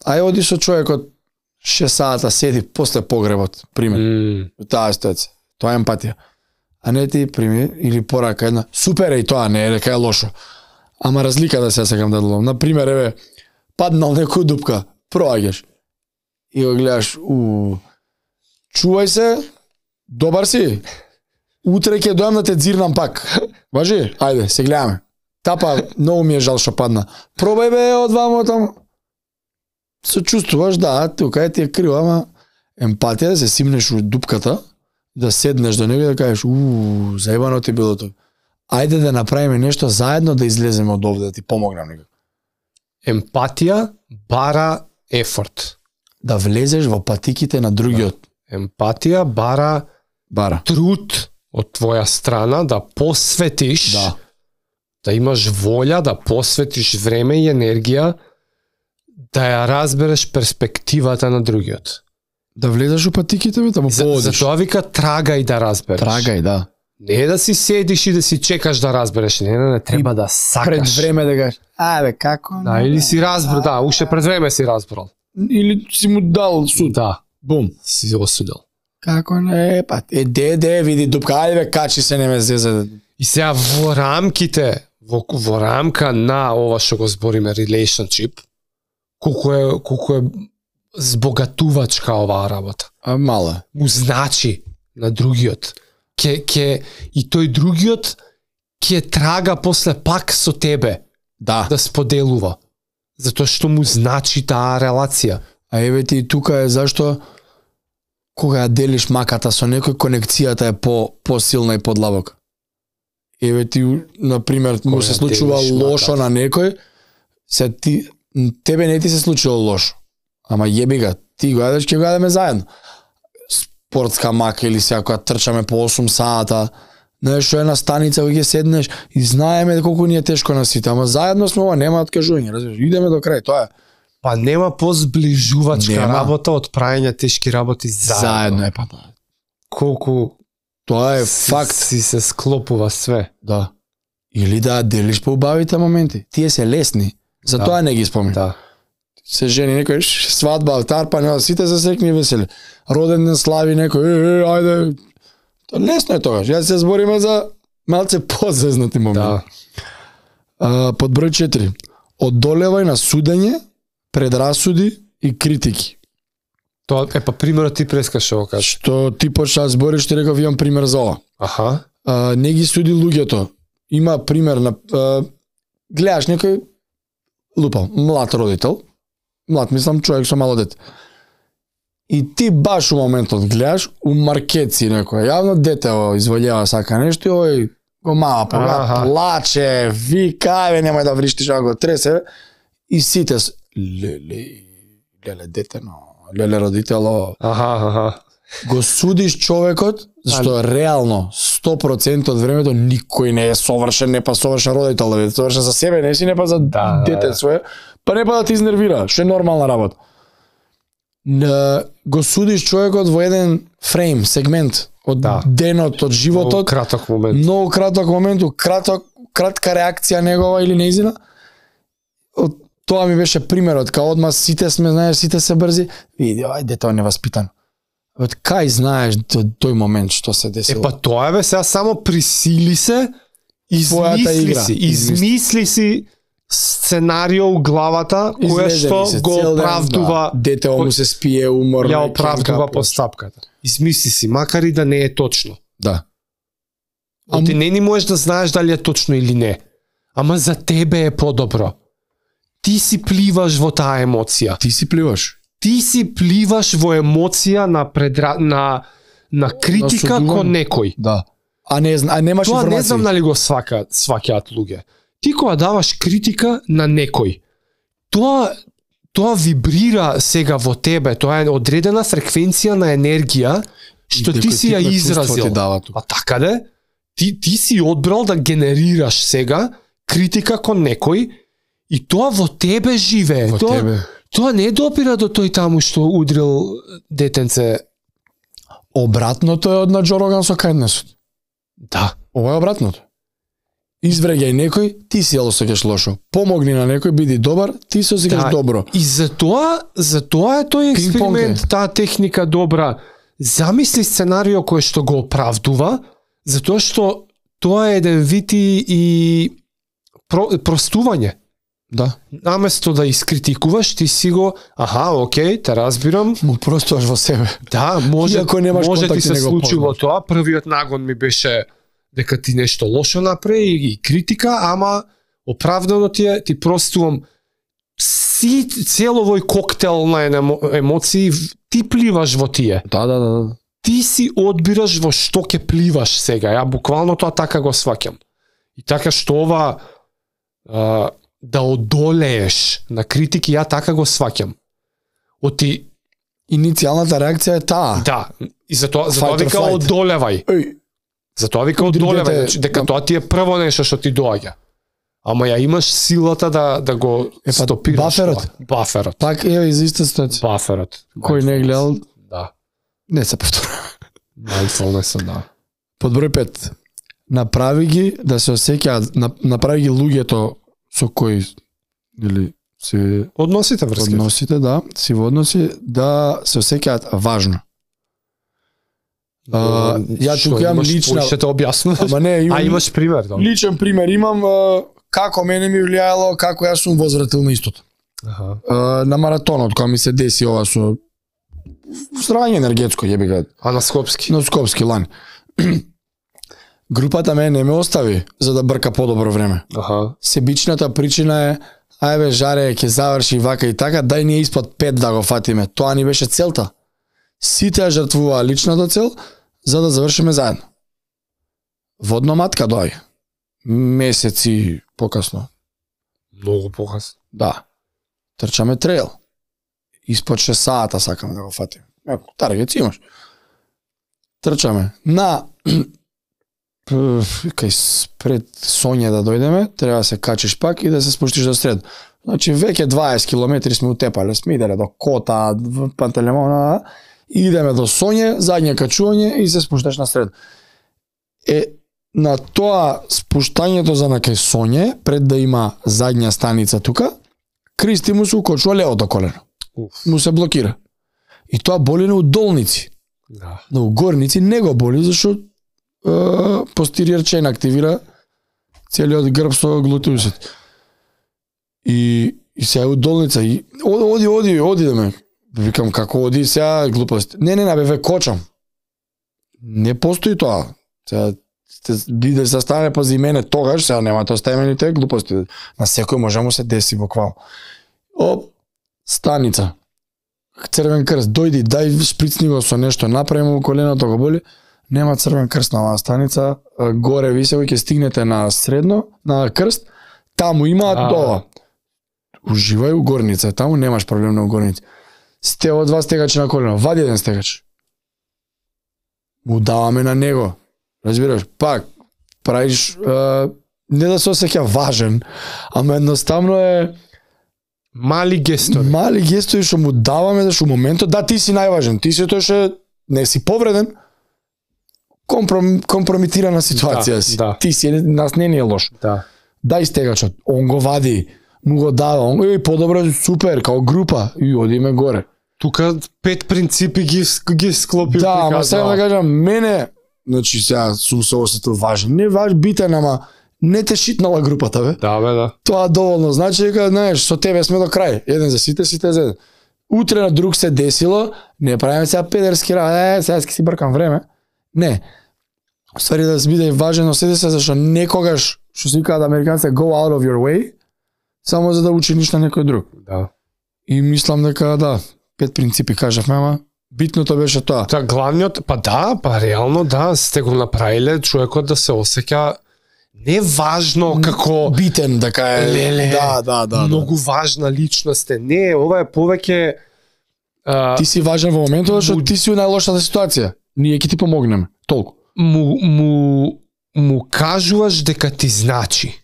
ај оди со човекот 6 сата седи после погребот, пример. Таа ситуација. Тоа е емпатија. А не ти прими или порака една. Супер е и тоа, не е дека е лошо. Ама разлика да се сакам да делам. Например, еве, паднал некој дупка, проаѓаш. И го гледаш, чувај се, добар си. Утре ќе дојам да те дзирнам пак. Важи? Ајде, се гледаме. Тапа, многу ми е жал што падна. Пробај бе од вамо таму. Се чувствуваш, да, тука е ти е криво, ама емпатија да се симнеш у дупката, да седнеш до него и да кажеш, заебано ти било тоа. Ајде да направиме нешто заедно да излеземе од овде, да ти помогнам некако. Емпатија бара ефорт. Да влезеш во патиките на другиот. Емпатија бара труд од твоја страна да посветиш, да имаш волја, да посветиш време и енергија, да ја разбереш перспективата на другиот. Да влезеш у патиките, бе, да му поводиш. Затоа вика трагај да разбереш. Трагај, да. Не да си седиш и да си чекаш да разбереш, не, треба да сакаш. Пред време да кажеш, бе, како? Да, или си разбрал, уште пред време си разбрал. Или си му дал суд. Да. Бум. Си осудил. Како не, па, види дупка, ајде бе, качи се, не ме зезе. И сега во рамките, во рамка на ова што го збориме relationship, колку е збогатувачка оваа работа. Мала. Му значи на другиот. И тој другиот ќе трага после пак со тебе. Да споделува. Затоа што му значи таа релација. А еве ти тука е зашто кога ја делиш маката со некој, конекцијата е посилна и подлабока. Еве ти, например, му се случува лошо на некој, се тебе не ти се случило лошо. Ама јеби ga, ти го јадеш, ќе го јадеме заедно. Спортска мака или сега кога трчаме по 8 сата, знаеш, што е на станица кога ќе седнеш и знаеме колку ни е тешко на сите, ама заедно сме, ова нема откажување, разбираш, идеме до крај, тоа е. Па нема позближувачка работа од правење тешки работи заедно. Па да. Колку тоа е факт. Си се склопува све. Да. Или да делиш по убавите моменти. Тие се лесни, затоа не ги спомнам. Да. се жени некој свадба, тарпане, сите се среќни и весели. Роден ден слави некој, ајде. Тоа лесно е тогаш. Ја се збориме за малце позезнати моменти. Да. Под број 4. Одолевај на судење, предрасуди и критики. Тоа е па примерот ти прескаше го кажеш. Што ти почна да збориш, ти реков имам пример за ова. Аха. Не ги суди луѓето. Има пример на гледаш некој лупал, млад родител, млад мислам човек со мало дете. И ти баш у моментот гледаш у маркетси некој јавно дете изволјава сака нешто и ој го мава плаче, вика, немај да вриштиш, а го тресе и сите леле дете, леле родитело. Аха. Го судиш човекот, зашто реално 100% од времето никој не е совршен, не па совршен родител, да совршен за себе, не си, не па за дете свое, па не па да ти изнервира, што е нормална работа. Го судиш човекот во еден фрейм, сегмент од денот, од животот. Многу краток момент, кратка реакција негова или неизина. Тоа ми беше примерот, као одма сите сме, знаеш, сите се брзи. Види, ај дете неваспитан. Од кај знаеш до тој момент што се десило? Па тоа е сега само присили се, измисли си сценарио у главата која што го оправдува. Дете му се спие умор. Ја оправдува постапката. Измисли си, макар и да не е точно. Да. Ти не ни можеш да знаеш дали е точно или не. Ама за тебе е подобро. Ти си пливаш во таа емоција. Ти си пливаш во емоција на критика кон некој. Да. А немаш информација. Тоа не знам дали го сваќаат луѓе. Ти кога даваш критика на некој, тоа вибрира сега во тебе, тоа е одредена фреквенција на енергија што ти си ја изразил. А така де, ти си одбрал да генерираш сега критика кон некој и тоа во тебе живее. Тоа не допира до тој таму што удрил детенце. Обратното е од на Джо Роган со кајднесот. Да. Ова е обратното. Извреѓај некој, ти си ја осеќаш лошо. Помогни на некој, биди добар, ти се осеќаш добро. И затоа е тој експеримент, таа техника добра. Замисли сценарио кој што го оправдува, затоа што тоа е еден вид и простување. Да. Наместо да искритикуваш, ти си го, окей, те разбирам. Му простуваш во себе. Да, може ти се случило тоа. Првиот нагон ми беше дека ти нешто лошо направи и критика, ама оправдано ти простувам цело овој коктел на емоции, ти пливаш во тие. Да. Ти си одбираш во што ќе пливаш сега. Ја буквално тоа така го сваќам. И така што ова да одолееш на критики, ја така го сваќам. Иницијалната реакција е таа. Да, и затоа вика одолевај. Затоа вика одолевај, дека тоа ти е прво нешто што ти доаѓа. Ама ја имаш силата да го стопираш. Баферот. Так е за иста ситуација. Баферот. Кој не гледал? Да. Не се повтора. Mindfulness, да. Под број 5. Направи ги да се осеќаат, направи ги луѓето со кои или се односите врски. Односите, да, си во односи да се осеќаат важно. Ја тука имам лична... Ще те објаснам. Ама не, имаш пример, да. Личен пример имам како мене ми влијаело, како јас сум возвратил на истото. На маратонот, кога ми се деси ова со стравање енергетско, јебига. На Скопски? На Скопски лани. Групата мене не ме остави за да брка подобро време. Себичната причина е, ајбе жаре, ќе заврши вака и така, дај ние испод 5 да го фатиме. Тоа ни беше целта. Сите ја жртвуваа личната цел за да завршиме заедно. Водно матка доаѓа. Месеци покасно. Многу покасно. Да. Трчаме трейл. Испод 6 сата сакаме да го фатиме. Таргет си имаш. Трчаме. Кај пред Соње да дојдеме, треба да се качиш пак и да се спуштиш до сред. Значи веќе 20 километри сме утепале, сме иделе до Кота, Пантелеймон, и идеме до Соње, задње качување и се спушташ на сред. На тоа спуштањето за на кај Соње, пред да има задња станица тука, Кристи му се укочува левото колено. Уф. Му се блокира. И тоа боли на удолници. Да. На угорници не го боли, зашто постериор чейн активира целиот грб со глутеусот. И сега удолница и оди да ме. Викам како оди сега глупост. Не, бе ве кочам. Не постои тоа. Сега биде се стане пази мене тогаш, сега нема тоа стајмените глупости. На секој може му се деси буквално. Оп, станица. Црвен крст, дојди, дај шприцни го со нешто, направи му коленото го боли. Нема црвен крст на оваа станица, горе високо ќе стигнете на средно, на крст, таму имаат тоа. Уживај у горница, таму немаш проблем на угорница. Од два стегачи на колено, вади еден стегач. Му даваме на него. Разбираш, пак, правиш, не да се осеќа важен, ама едноставно е мали гестори. Мали гестори што му даваме, зашто у моментот, да, ти си најважен, ти си тој што не си повреден, компромитирана ситуација си. Да. Ти си, нас не е лош. Да. Дај стегачот, он го вади, му го дава, он подобро, супер, као група, и одиме горе. Тука 5 принципи ги склопи. Да, ама сега да кажам, мене, значи сега сум се осетил важен, не битен, ама не те шитнала групата, бе. Да, бе, да. Тоа доволно значи дека, знаеш, со тебе сме до крај. Еден за сите за еден. Утре на друг се десило, не правиме сега педерски работи, сега си бркам време. Не. Ствари да се биде важен, осети се зашто некогаш, што се викаат американците, go out of your way, само за да учиниш на некој друг. Да. И мислам дека, да, 5 принципи кажавме, ама битното беше тоа. Та главниот, па реално да, сте го направиле човекот да се осеќа не важно како битен, дека е. Леле, да. Многу важна личност е. Не, ова е повеќе ти си важен во моментот, што ти си у најлошата ситуација. Ние ќе ти помогнеме. Толку. Му кажуваш дека ти значи.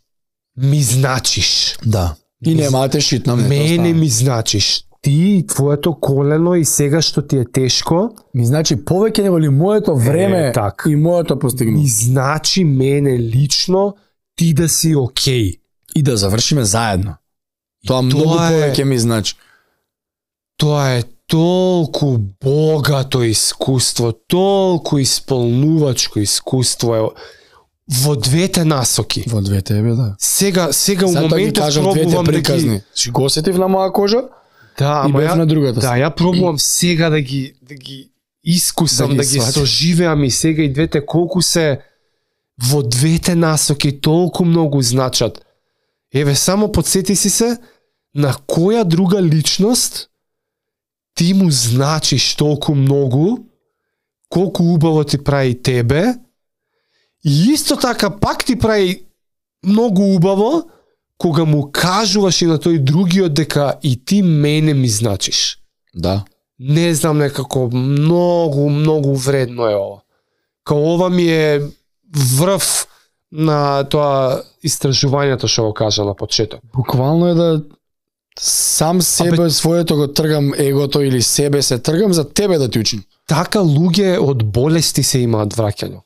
Ми значиш. Да. И нема да те шитнам. Мене ми значиш. Ти, твоето колено и сега што ти е тешко, ми значи повеќе него ли моето време и моето постигнување. Ми значи мене лично ти да си окей. И да завршиме заедно. Тоа многу повеќе ми значи. Тоа е толку богато искуство, толку исполнувачко искуство е во двете насоки. Во двете е, да. Сега у моментот пробувам да ги... Го осетив на моја кожа, да, и бев на другата. Да, ја пробувам сега да ги искусам, да ги соживеам и сега и двете колку се во двете насоки толку многу значат. Еве, само подсети си се на која друга личност ти му значиш толку многу, колку убаво ти прави тебе, и исто така пак ти прави многу убаво, кога му кажуваш и на тој другиот дека и ти мене ми значиш. Да. Не знам, некако многу вредно е ова. Као ова ми е врв на тоа истражувањето што го кажа на почеток. Буквално е да сам себе своето го тргам егото или себе се тргам за тебе да ти учим. Така луѓе од болести се имаат враќање.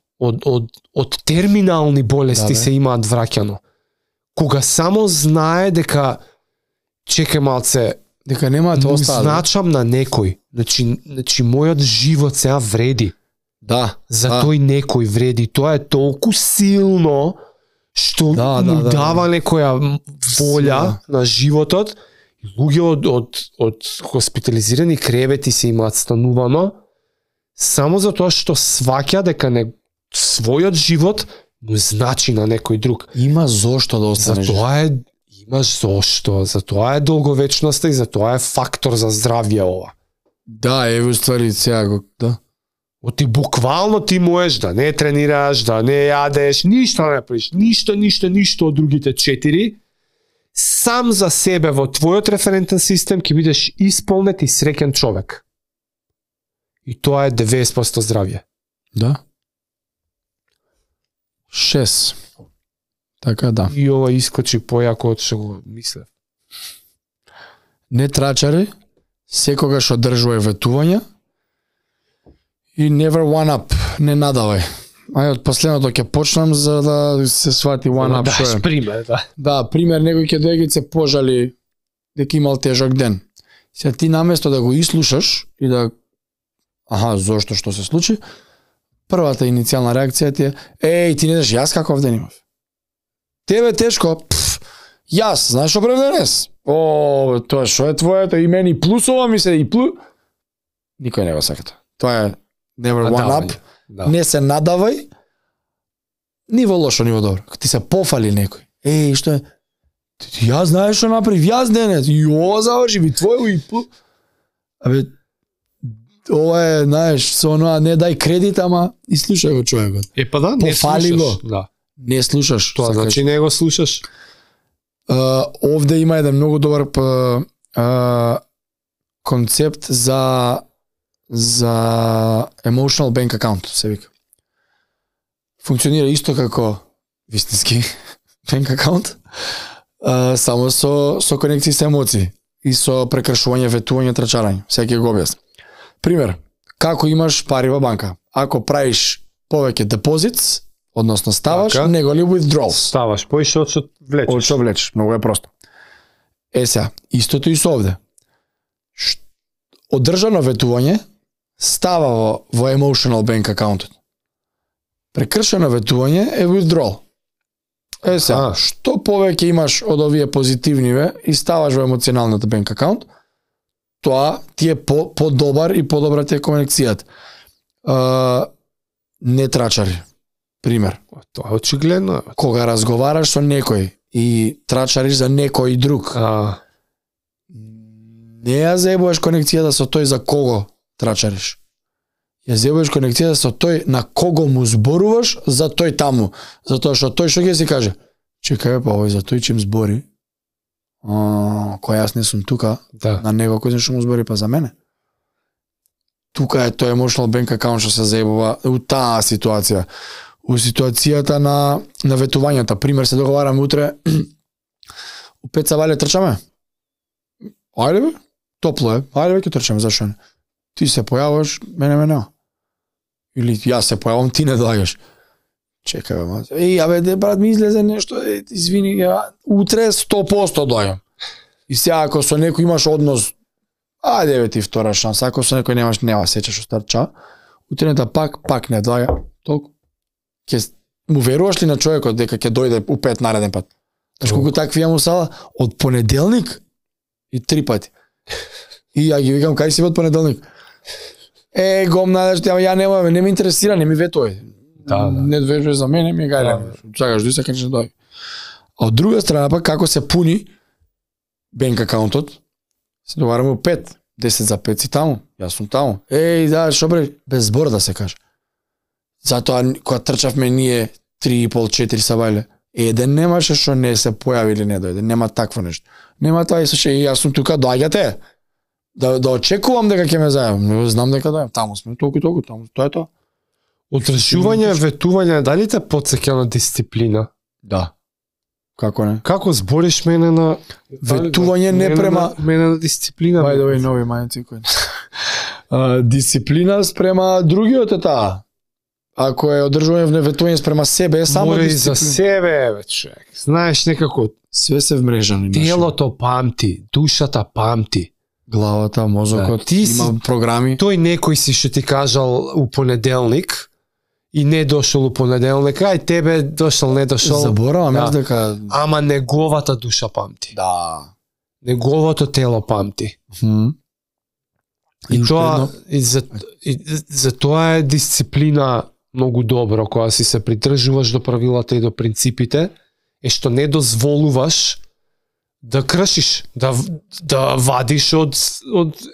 Од терминални болести се имаат враќано. Кога само знае дека чекај малце, дека нема да остане. Значам на некој. Значи мојот живот сега вреди. Да. За тој некој вреди. Тоа е толку силно што му дава некоја волја на животот. Луѓе од хоспитализирани кревети се имаат станувано само за тоа што сваќа дека својот живот му значи на некој друг. Има зошто да останеш. Имаш зошто, затоа е долговечноста и затоа е фактор за здравје ова. Да, еве ствари сега го, да. Ти буквално ти можеш да не тренираш, да не јадеш, ништо не правиш, ништо од другите 4. Сам за себе во твојот референтен систем ќе бидеш исполнет и среќен човек. И тоа е 90% здравје. Да. 6. Така да. И ова искочи појако од што го мислев. Не трачари, секогаш одржувај ветувања и never one up, не надавај. Ај од последното ќе почнам за да се свати one up што е. Пример, да. Да, пример, некој ќе дојде се пожали дека имал тежок ден. Сега ти наместо да го ислушаш и да зошто што се случи, првата иницијална реакција ти е ти не знаеш јас каков ден имав. Тебе тешко, јас, знаеш што правам денес? Тоа што е твоето и мене плюсова ми се и никој не го сака тоа. Тоа е never one up. Да. Не се надавај. Ни во лошо, ни во добро. Ти се пофали некој. Што е? Јас знаеш што направив, јас денес. Заврши ми твој и ова е, знаеш, со оноа не дај кредит, ама и слушај го човекот. Да, не пофали слушаш. Го. Да. Не слушаш. Тоа значи не го слушаш. Овде има еден многу добар концепт за emotional bank account, се вика. Функционира исто како вистински bank account, само со конекции со емоции и со прекршување, ветување, трчарање. Секој го објасни. Пример, како имаш пари во банка? Ако правиш повеќе депозит, односно ставаш, него ли withdrawal? Ставаш, поише од што влечеш. Од што влечеш, многу е просто. Сега, истото и со овде. Одржано ветување става во emotional bank account. Прекршено ветување е withdrawal. Сега, што повеќе имаш од овие позитивниве и ставаш во емоционалната bank account, тоа ти е подобар и подобра ти е конекцијата. Не трачари. Пример. Тоа е очигледно. Кога разговараш со некој и трачариш за некој друг, не ја заебуваш конекцијата со тој за кого трачариш. Ја заебуваш конекцијата со тој на кого му зборуваш за тој таму. Затоа што тој што ќе си каже, чекај овој за тој чим збори, кој јас не сум тука, на него кој што му збори па за мене. Тука е тој emotional bank account што се заебува у таа ситуација. У ситуацијата на ветувањата, пример, се договараме утре, у 5 савале трчаме. Ајде бе, топло е, ајде бе ќе трчаме, зашо не? Ти се појаваш, мене нема. Или јас се појавам, ти не доаѓаш. Чекај бе, мати. Брат, ми излезе нешто, извини, утре 100% доаѓам. И сега ако со некој имаш однос, ајде бе ти втора шанса, ако со некој нема сеќаш остарча, утренета пак не доаѓа, толку. Му веруваш ли на човекот дека ќе дојде у 5 нареден пат? Знаеш колку такви ја му сала? Од понеделник и 3 пати. И ја ги викам, кај си од понеделник? Гомна, ја не ме интересира, не ми ветој. Не ветој за мене, ми гајле. Чакаш, дуј се кај ќе дојде. А од друга страна пак, како се пуни банк акаунтот, се договараме у 5, 10 за 5 си таму, јас сум таму. Да, шо бре, без збор да се каже. Затоа, кога трчавме ние 3,5-4 сабајле, еден немаше што не се појави или не дојде. Нема такво нешто. Нема тоа и со јас сум тука, доаѓате. Да очекувам дека ќе ме зајавам. Знам дека доаѓам. Таму сме, толку, таму. Тоа е тоа. Отрчување, ветување, дали те потсеќа на дисциплина? Да. Како не? Како збориш мене на ветување не према мене на дисциплина? By the way, нови мајци кои. Дисциплина спрема другиот е таа. Ако е одржување ветување спрема себе, е само дисциплина. За себе, бе, човек. Знаеш некако све се вмрежани. Телото памти, душата памти. Главата, мозокот, има програми. Тој некој си што ти кажал у понеделник и не дошол у понеделник, ај тебе дошол, не дошол. Заборавам дека ама неговата душа памти. Да. Неговото тело памти. И тоа за тоа е дисциплина многу добро кога си се придржуваш до правилата и до принципите, е што не дозволуваш да кршиш, да вадиш од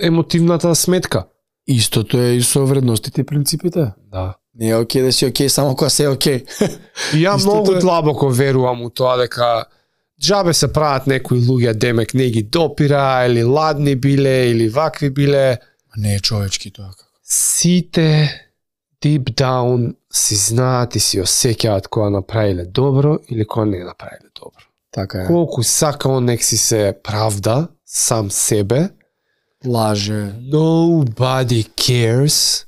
емотивната сметка. Истото е и со вредностите и принципите. Да. Не е окей да си окей само кога се окей. И ја многу длабоко верувам у тоа дека џабе се прават некои луѓе демек не ги допира, или ладни биле, или вакви биле. Не е човечки тоа. Сите deep down си знаат и си осеќаат кога направиле добро или кога не направиле добро. Така е. Колку сака он нек си се правда сам себе, лаже. Nobody cares,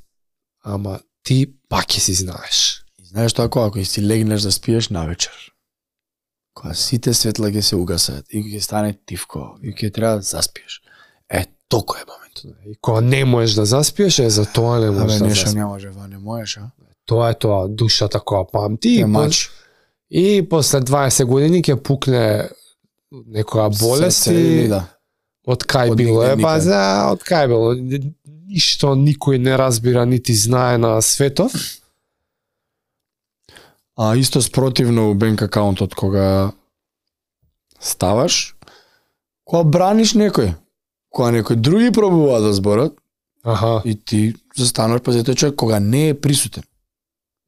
ама ти пак ќе си знаеш. И знаеш тоа ако си легнеш да спиеш навечер. кога сите светла ќе се угасат и ќе стане тивко и ќе треба да заспиеш. Толку е моментот. И кога не можеш да заспиеш, за тоа не можеш да заспиеш. Не може, не можеш, а? Тоа е тоа, душата која памти. И после 20 години ќе пукне некоја болест и од кај било е, од кај било. Ништо никој не разбира, нити знае на светов. А исто спротивно у бенк акаунтот, кога ставаш, кога браниш некој, кога некој други пробува да зборат, и ти застануваш па тој човек кога не е присутен.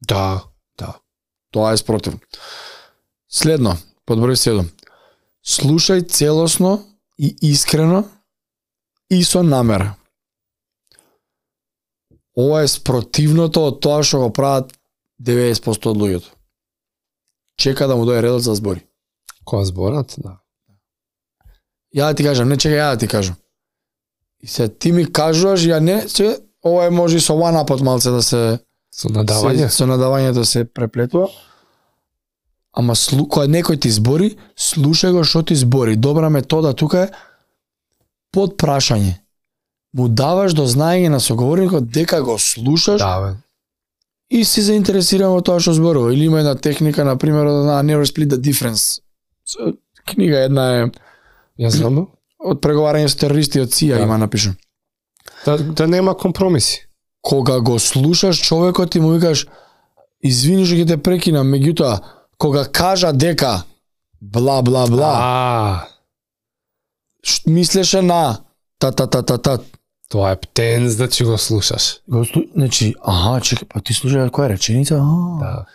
Да. Тоа е спротивно. Следно, под број 7. Слушај целосно и искрено и со намера. Ова е спротивното од тоа што го прават 90% од луѓето. Чека да му дојде редот за збори. Кога зборат, да. Ја да ти кажам, не чекај, ја да ти кажам. И се ти ми кажуваш, ја не, ова е може и со one-up малце да се со надавање. Со надавањето се преплетува. Ама кога некој ти збори, слушај го што ти збори. Добра метода тука е под прашање. Му даваш до знаење на соговорникот дека го слушаш. Да, и си заинтересиран во тоа што зборува. Или има една техника, на пример, на Never Split the Difference. Книга една е Ја знам. Од преговарање со терористи од ЦИА има напишано. Да нема компромиси. Кога го слушаш човекот и му викаш извини што ќе те прекинам, меѓутоа кога кажа дека бла бла бла. Мислеше на та. Тоа е птен, значи го слушаш. Значи, чекай, па ти слушаш која реченица? Да.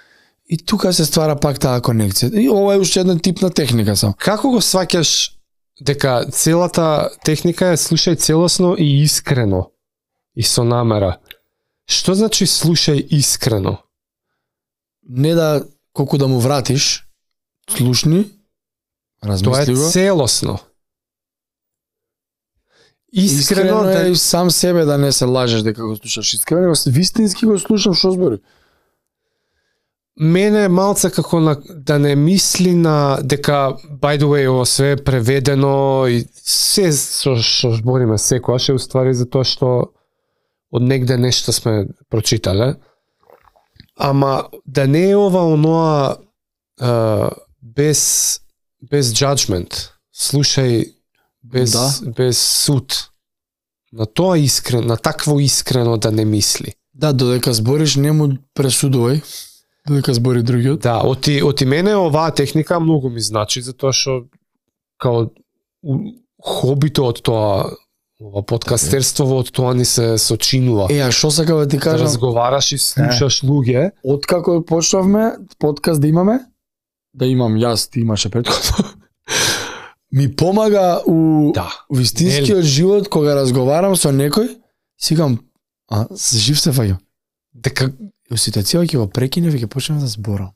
И тука се ствара пак таа конекција. И ова е уште една тип на техника само. Како го сваќаш дека целата техника е слушај целосно и искрено и со намера? Што значи слушај искрено? Не да колку да му вратиш, слушни, размисли го. Тоа е целосно. Искрено е и сам себе да не се лажеш дека го слушаш искрено, вистински го слушам што збори. Мене малце како да не мисли на дека by the way ова све е преведено и се што збориме секојаш е уствари за тоа што од негде нешто сме прочитале. Ама да не е ова оноа без judgment. Слушај без суд. На тоа искрено, на такво искрено да не мисли. Да, додека збориш не му пресудувај. Додека збори другиот. Да, оти мене оваа техника многу ми значи затоа што као хобито од тоа ова подкастерство од тоа ни се сочинува. А што сакам да ти кажам? Разговараш и слушаш луѓе. Откако почнавме подкаст да имаме, да имам јас, ти имаше претходно. Ми помага у вистинскиот живот кога разговарам со некој, сигам, жив се фаќам. Дека во ситуација ќе го прекинев и ќе почнем да зборам.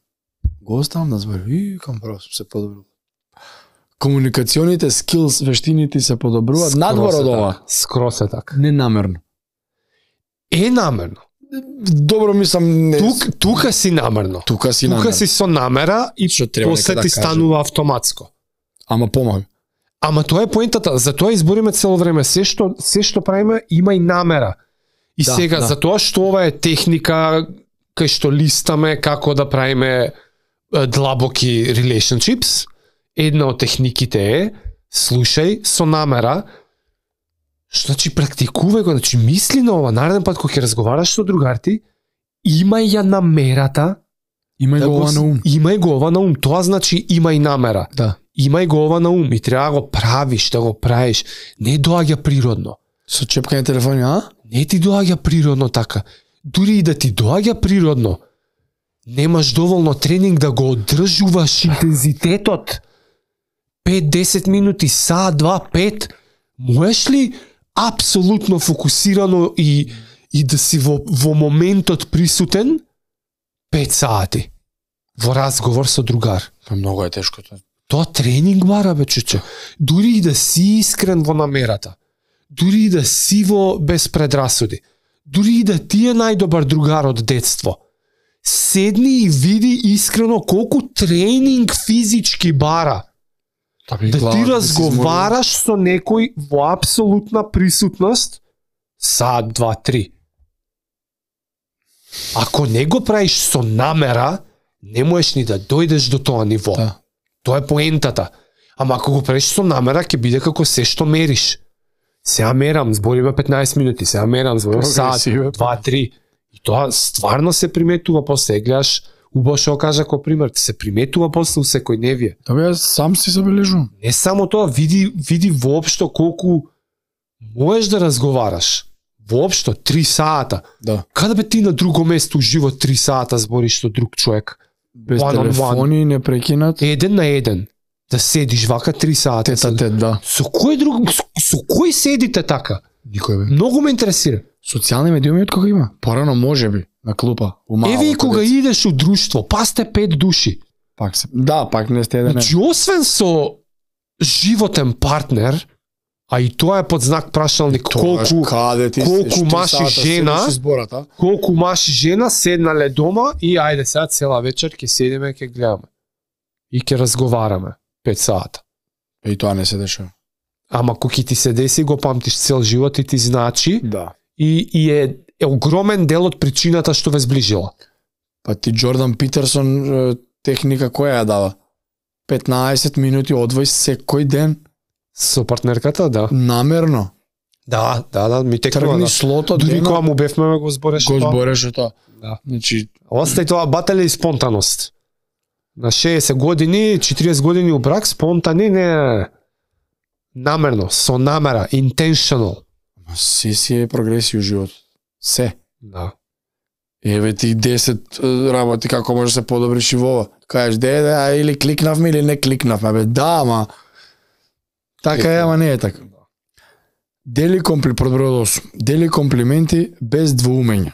Го оставам да зборам и кам право се подобрува. Комуникационите скилс, вештините се подобруваат надвор од ова. Скрос е така. Ненамерно. Е намерно. Добро мислам не. Тука си намерно. Тука си со намера и после ти станува автоматско. Ама помага. Ама тоа е поентата, затоа избориме цело време се што правиме има и намера. И сега затоа што ова е техника кај што листаме како да правиме длабоки relationships, една од техниките е слушај со намера. Што значи практикувај го, значи мисли на ова, нареден пат кога ќе разговараш со другарти, имај ја намерата, имај го ова на ум. Имај го ова на ум, тоа значи имај намера. Да. Имај го ова на ум и треба да го правиш, да го правиш. Не доаѓа природно. Со чепкање телефони, Не ти доаѓа природно така. Дури и да ти доаѓа природно, немаш доволно тренинг да го одржуваш интензитетот. 5-10 минути, саат, 2-5, можеш ли апсолутно фокусирано и да си во моментот присутен 5 сати во разговор со другар? Многу е тешко тоа. Тоа тренинг бара, бе, чуче. Дури и да си искрен во намерата. Дури и да си во без предрасуди. Дури и да ти е најдобар другар од детство. седни и види искрено колку тренинг физички бара. Да ти разговараш со некој во апсолутна присутност саат, 2-3. Ако не го правиш со намера, не можеш ни да дојдеш до тоа ниво. Да. Тоа е поентата. Ама ако го правиш со намера, ќе биде како се што мериш. Сега мерам, збориме 15 минути, сега мерам, збориме саат, 2-3. И тоа стварно се приметува после. Гледаш, убаво што кажа како пример, се приметува после у секојдневие. Да бе, сам си забележувам. Не само тоа, види воопшто колку можеш да разговараш. Воопшто 3 сата. Да. Каде бе ти на друго место уживо 3 сата збориш со друг човек? Без One on телефони, не прекинат. Еден на еден. Да седиш вака 3 сата. Тет, да. Со кој друг, со кој седите така? Никој бе. Многу ме интересира. Социјални медиуми од кога има? Порано може би, на клупа. Еве и кога идеш у друштво, па сте 5 души. Пак се. Да, пак не сте еден. Значи, освен со животен партнер, а и тоа е под знак прашалник, колку маж и жена, колку маж и жена седнале дома и ајде сега цела вечер ќе седиме, ќе гледаме. И ќе разговараме 5 сата. И тоа не се дешава. Ама кога ти се деси, го памтиш цел живот и ти значи. Да. И е огромен дел од причината што ве зближила. Па ти Джордан Питерсон техника која ја дава? 15 минути одвој секој ден. Со партнерката, да. Намерно. Да, ми текнува. Тргни Да. слото, Дури кога му бевме го збореше го тоа. збореше тоа. Да. Значи, Остај тоа баталја и спонтаност. На 60 години, 40 години у брак, спонтани, не. Намерно, со намера, intentional. си е прогресија у живот. Се. Да. Еве ти 10 работи како можеш да се подобриш и во ова. Кажеш, или кликнавме или не кликнавме. Бе, да, ама така е, ама не е така. Дели Дели комплименти без двоумење.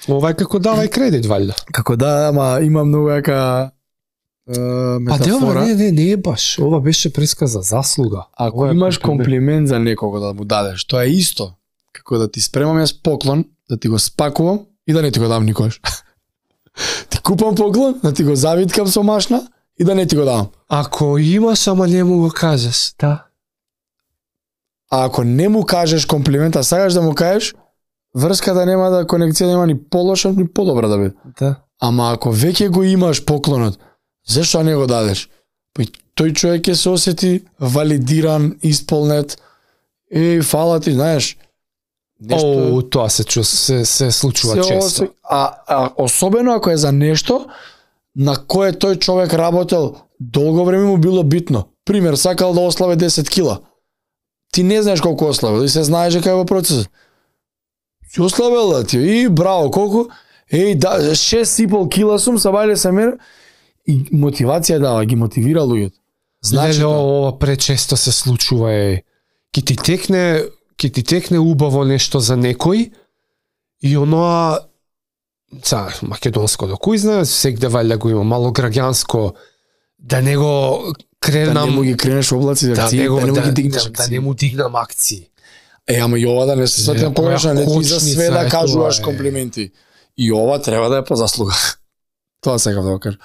Ова е како давај кредит, валјда. Како да, ама има многу јака метафора. Не е баш. Ова беше преска за заслуга. Ако имаш комплимент за некого да му дадеш, тоа е исто како да ти спремам јас поклон, да ти го спакувам и да не ти го дам никош. Ти купам поклон, да ти го завиткам со машна и да не ти го дам. Ако имаш, ама не му го кажеш, да. А ако не му кажеш комплимента, сакаш да му кажеш, врската нема да конекција нема ни полоша, ни подобра да биде. Да. Ама ако веќе го имаш поклонот, зашто не го дадеш? Па тој човек ќе се осети валидиран, исполнет. Фала ти, знаеш. Нешто... тоа се случува често. А особено ако е за нешто на кое тој човек работел долго време, му било битно. Пример, сакал да ославе 10 кила. Ти не знаеш колку ославил и се знаеш дека е во процесот. Си ославил да ти и браво, колку? 6,5 кила сум, сабајле се мер и мотивација дава, ги мотивира луѓето. Значи ова пречесто се случува ќе ти текне убаво нешто за некој и оноа македонско кој знае, сегде валја го има мало граѓанско, да не го кренам, да не му ги кренеш облаци, да не му ги дигнеш, да не му дигнам акции. Ама и ова да не се светам погрешно, не ти за све да кажуваш комплименти. И ова треба да е по заслуга. Тоа сакам да го кажам.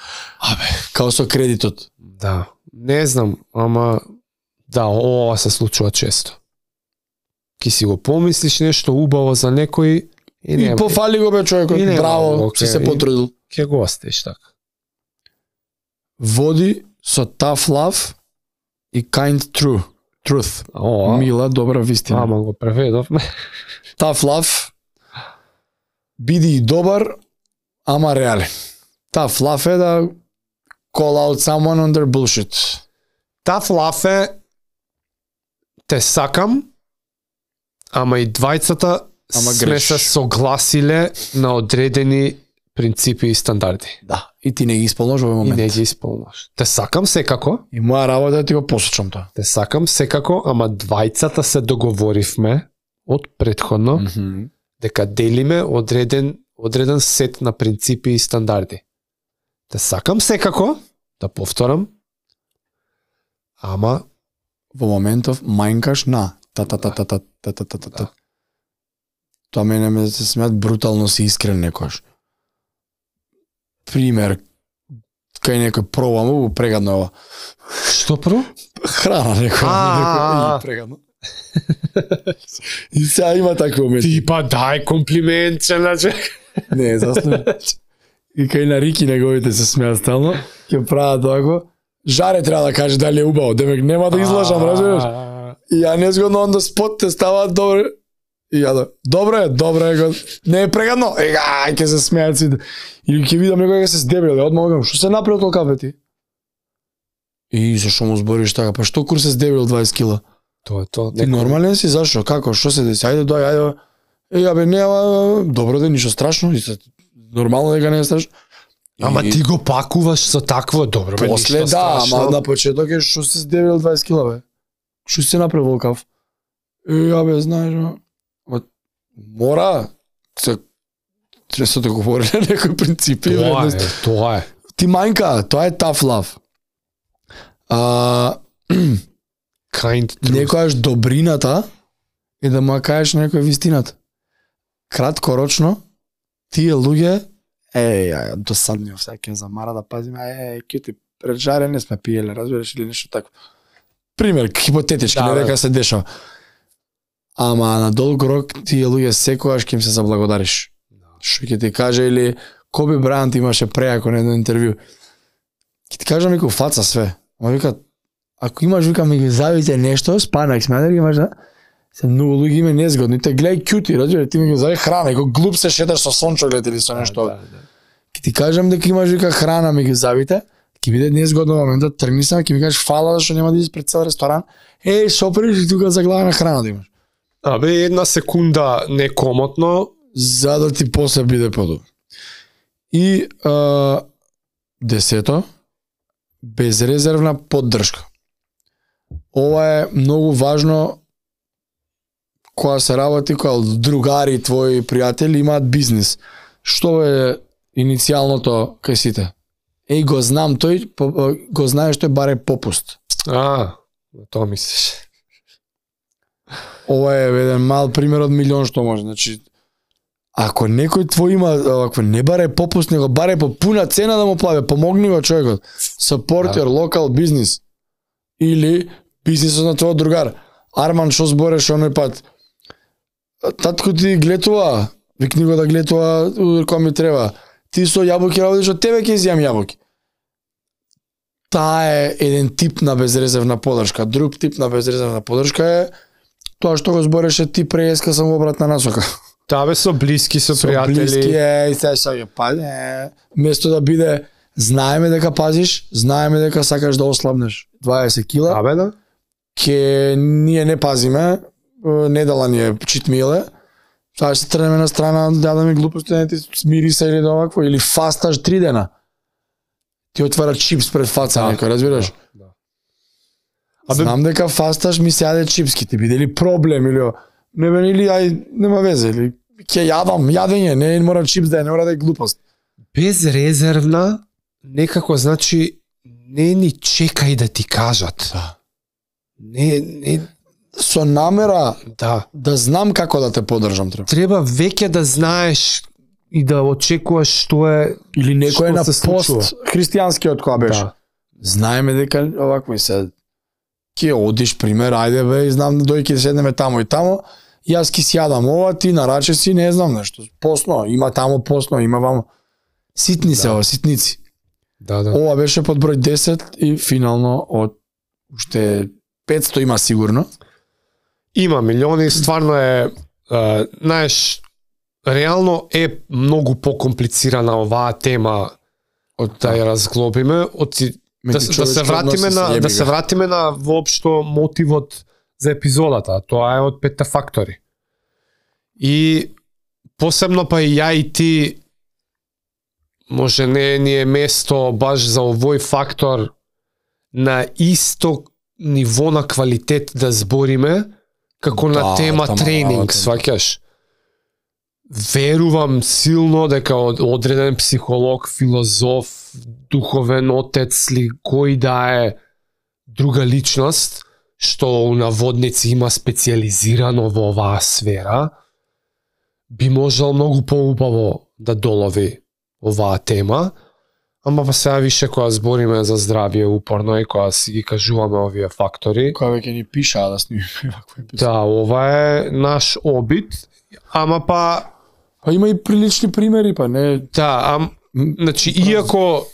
Као со кредитот. Да, не знам, ама да, ова се случува често. Ки си го помислиш нешто убаво за некој и пофали го бе човекот, браво, си се потрудил. Ке го остеш така. Води со tough love и kind truth. Мила, добра вистина. Ама го преведовме. Tough love, биди добар, ама реален. Tough love е да call out someone on their bullshit. Tough love е те сакам, ама и двајцата сме се согласиле на одредени принципи и стандарди. Да, и ти не ги исполнаш во момент. И не ги исполнаш. Те сакам секако. И моја работа е да ти го посочам тоа. Те сакам секако, ама двајцата се договоривме од претходно дека делиме одреден сет на принципи и стандарди. Те сакам секако, да повторам, ама во моментов мајнкаш на та. Тоа мене ме се смеат брутално си искрен некош. пример, кај некој пробам, прегадно е ова. Што про? Храна некој прегадно. И сега има такви моменти. Ти па дај комплимент, значи. Не, засно. И кај на Рики неговите се смеат стално, ќе прават тако. Жаре треба да каже дали е убаво, демек нема да излажам, разбираш? И ја незгодно онда спот те ставаат добро. И ја да, добро е, не е прегадно. Ега, ќе се смеат сите. Или ќе видам некој ќе се сдебрил, одма кажам, што се направил толку ти? И зашо му збориш така? Па што кур се сдебрил 20 кила? Тоа е тоа. Ти нормален си, зашо? Како? Што се деси? Ајде, ајде. Ја бе, нема, добро да ништо страшно, нормално дека не е страшно. Ама ти го пакуваш со такво добро, бе, после ништо страшно. ама на почеток е што се сдебрил 20 кила, бе. Што се направил волкав? Ја бе, знаеш, мора се се да говори на некои принципи. Тоа е. Ти мајнка, тоа е tough love. Kind truth. Некојаш добрината е да му кажеш некој вистината. Краткорочно, тие луѓе, досадни всеки замара да пазиме, кјути пред жаре не сме пиеле, разбираш, или нешто такво. Пример, хипотетички, не дека се дешава. Ама на долг рок тие луѓе секогаш ќе им се заблагодариш. Што ќе ти каже, или Коби Брајант имаше преако на едно интервју. Ќе ти кажам некој фаца све. Ама вика, ако имаш, вика, ми ги завите нешто, спанак сме, дали имаш, да? Се многу луѓе име незгодни, те гледај кјути, разбира, ти ми ги зави храна, и кој глуп се шеташ со сончоглед или со нешто. Ќе ти кажам дека имаш, вика, храна, ми ги завите, ќе биде незгодно моментот, тргни се, ќе ми кажеш фала зашто нема да идиш пред цел ресторан. Соприш и тука заглавена храна да имаш. Абе, една секунда некомотно, за да ти после биде подобро. И 10, безрезервна поддршка. Ова е многу важно кога се работи, кога другари, твои пријатели имаат бизнис. Што е иницијалното кај сите? Го знам тој, го знаеш тој баре попуст. тоа мислиш. Ова е еден мал пример од милион што може. Значи, ако некој твој има, ако не баре попуст, него баре по пуна цена да му плаве, помогни го човекот. Support your local business. Или бизнисот на твојот другар. Арман, што збореш оној пат? Татко ти глетува, викни го да глетува кога ми треба. Ти со јабуки работиш, од тебе ќе изјам јабуки. Таа е еден тип на безрезервна поддршка. Друг тип на безрезервна поддршка е тоа што го збореше ти преска сам обратна насока. Таа бе со блиски, со пријатели. Блиски и сега место да биде знаеме дека пазиш, знаеме дека сакаш да ослабнеш 20 кила. Абе да. Ке ние не пазиме, недела ни е читмиле. Сега се тренеме на страна, да ми глупости, не ти смири се или да овакво, или фасташ 3 дена. Ти отвара чипс пред фаца некој, разбираш? Да. Знам дека фасташ ми се јаде чипски, ти биде ли проблем или не бе или ај нема везе или ќе јадам, јадење, не мора чипс да е, не мора да е глупост. Безрезервна некако значи не ни чекај да ти кажат. Да. Не со намера да знам како да те поддржам треба веќе да знаеш и да очекуваш што е или некој е на пост христијанскиот која беше. Да. Знаеме дека овакво и се ќе одиш пример, ајде бе, знам да дојки да седнеме тамо и тамо, јас ки си јадам ова, ти нараче си, не знам нешто. Посно, има тамо посно, има вамо. Ситни се ова, ситници. Да. Ова беше под број 10 и финално од уште 500 има сигурно. Има милиони, стварно е, знаеш, реално е многу покомплицирана оваа тема од да ја разглобиме, да се вратиме на воопшто мотивот за епизодата, тоа е од 5 фактори. И посебно па и ја и ти може не ни е место баш за овој фактор на исто ниво на квалитет да збориме како на тема тренинг, сваќаш. Верувам силно дека одреден психолог, филозоф, духовен отец ли кој да е друга личност што у наводници има специализирано во оваа сфера, би можел многу поубаво да долови оваа тема, Ама па сега више кога збориме за здравје упорно и кога си ги кажуваме овие фактори. Кога веќе ни пишаа да снимиме ваква епизода. Да, ова е наш обид, ама па Па има и прилични примери, па не. да, значи иако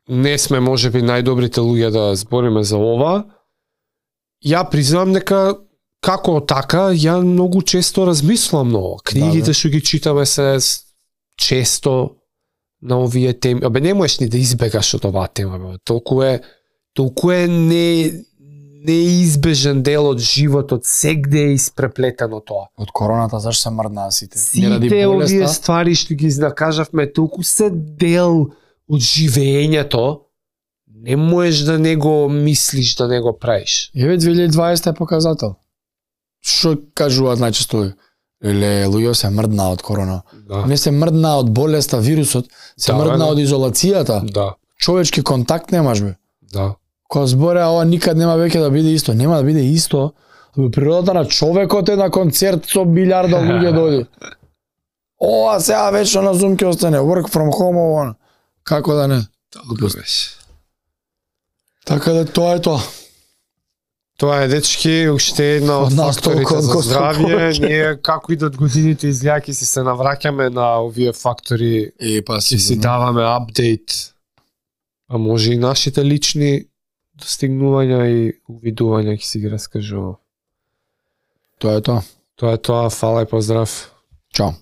не сме можеби најдобрите луѓе да збориме за ова, ја признавам дека како така, ја многу често размислам на ова. Книгите што ги читаме се често на овие теми. Абе не можеш ни да избегаш од оваа тема, бе. Толку е неизбежен дел од животот, сегде е испреплетено тоа. Од короната зашто се мрднаа сите? Сите овие ствари што ги накажавме, толку се дел од живеењето, не можеш да не го мислиш, да не го правиш. Еве 2020 е показател. Што кажуваат најчесто? Луѓе се мрднаа од корона. Да. Не се мрднаа од болеста, вирусот, се мрднаа од изолацијата. Да. Човечки контакт немаш, бе. Да. Кога збореа ова никад нема веќе да биде исто, нема да биде исто. Природата на човекот е на концерт со билјарда луѓе дојде. Ова сега вечно на Zoom ќе остане, work from home ова. Како да не? Така да тоа е тоа. Тоа е, дечки, уште една од факторите за здравје. Ние, како идат годините излјаки, си се навраќаме на овие фактори И па си даваме апдейт. А може и нашите лични достигнувања и увидувања ќе си ги раскажувам. Тоа е тоа. Тоа е тоа, фала и поздрав. Чао.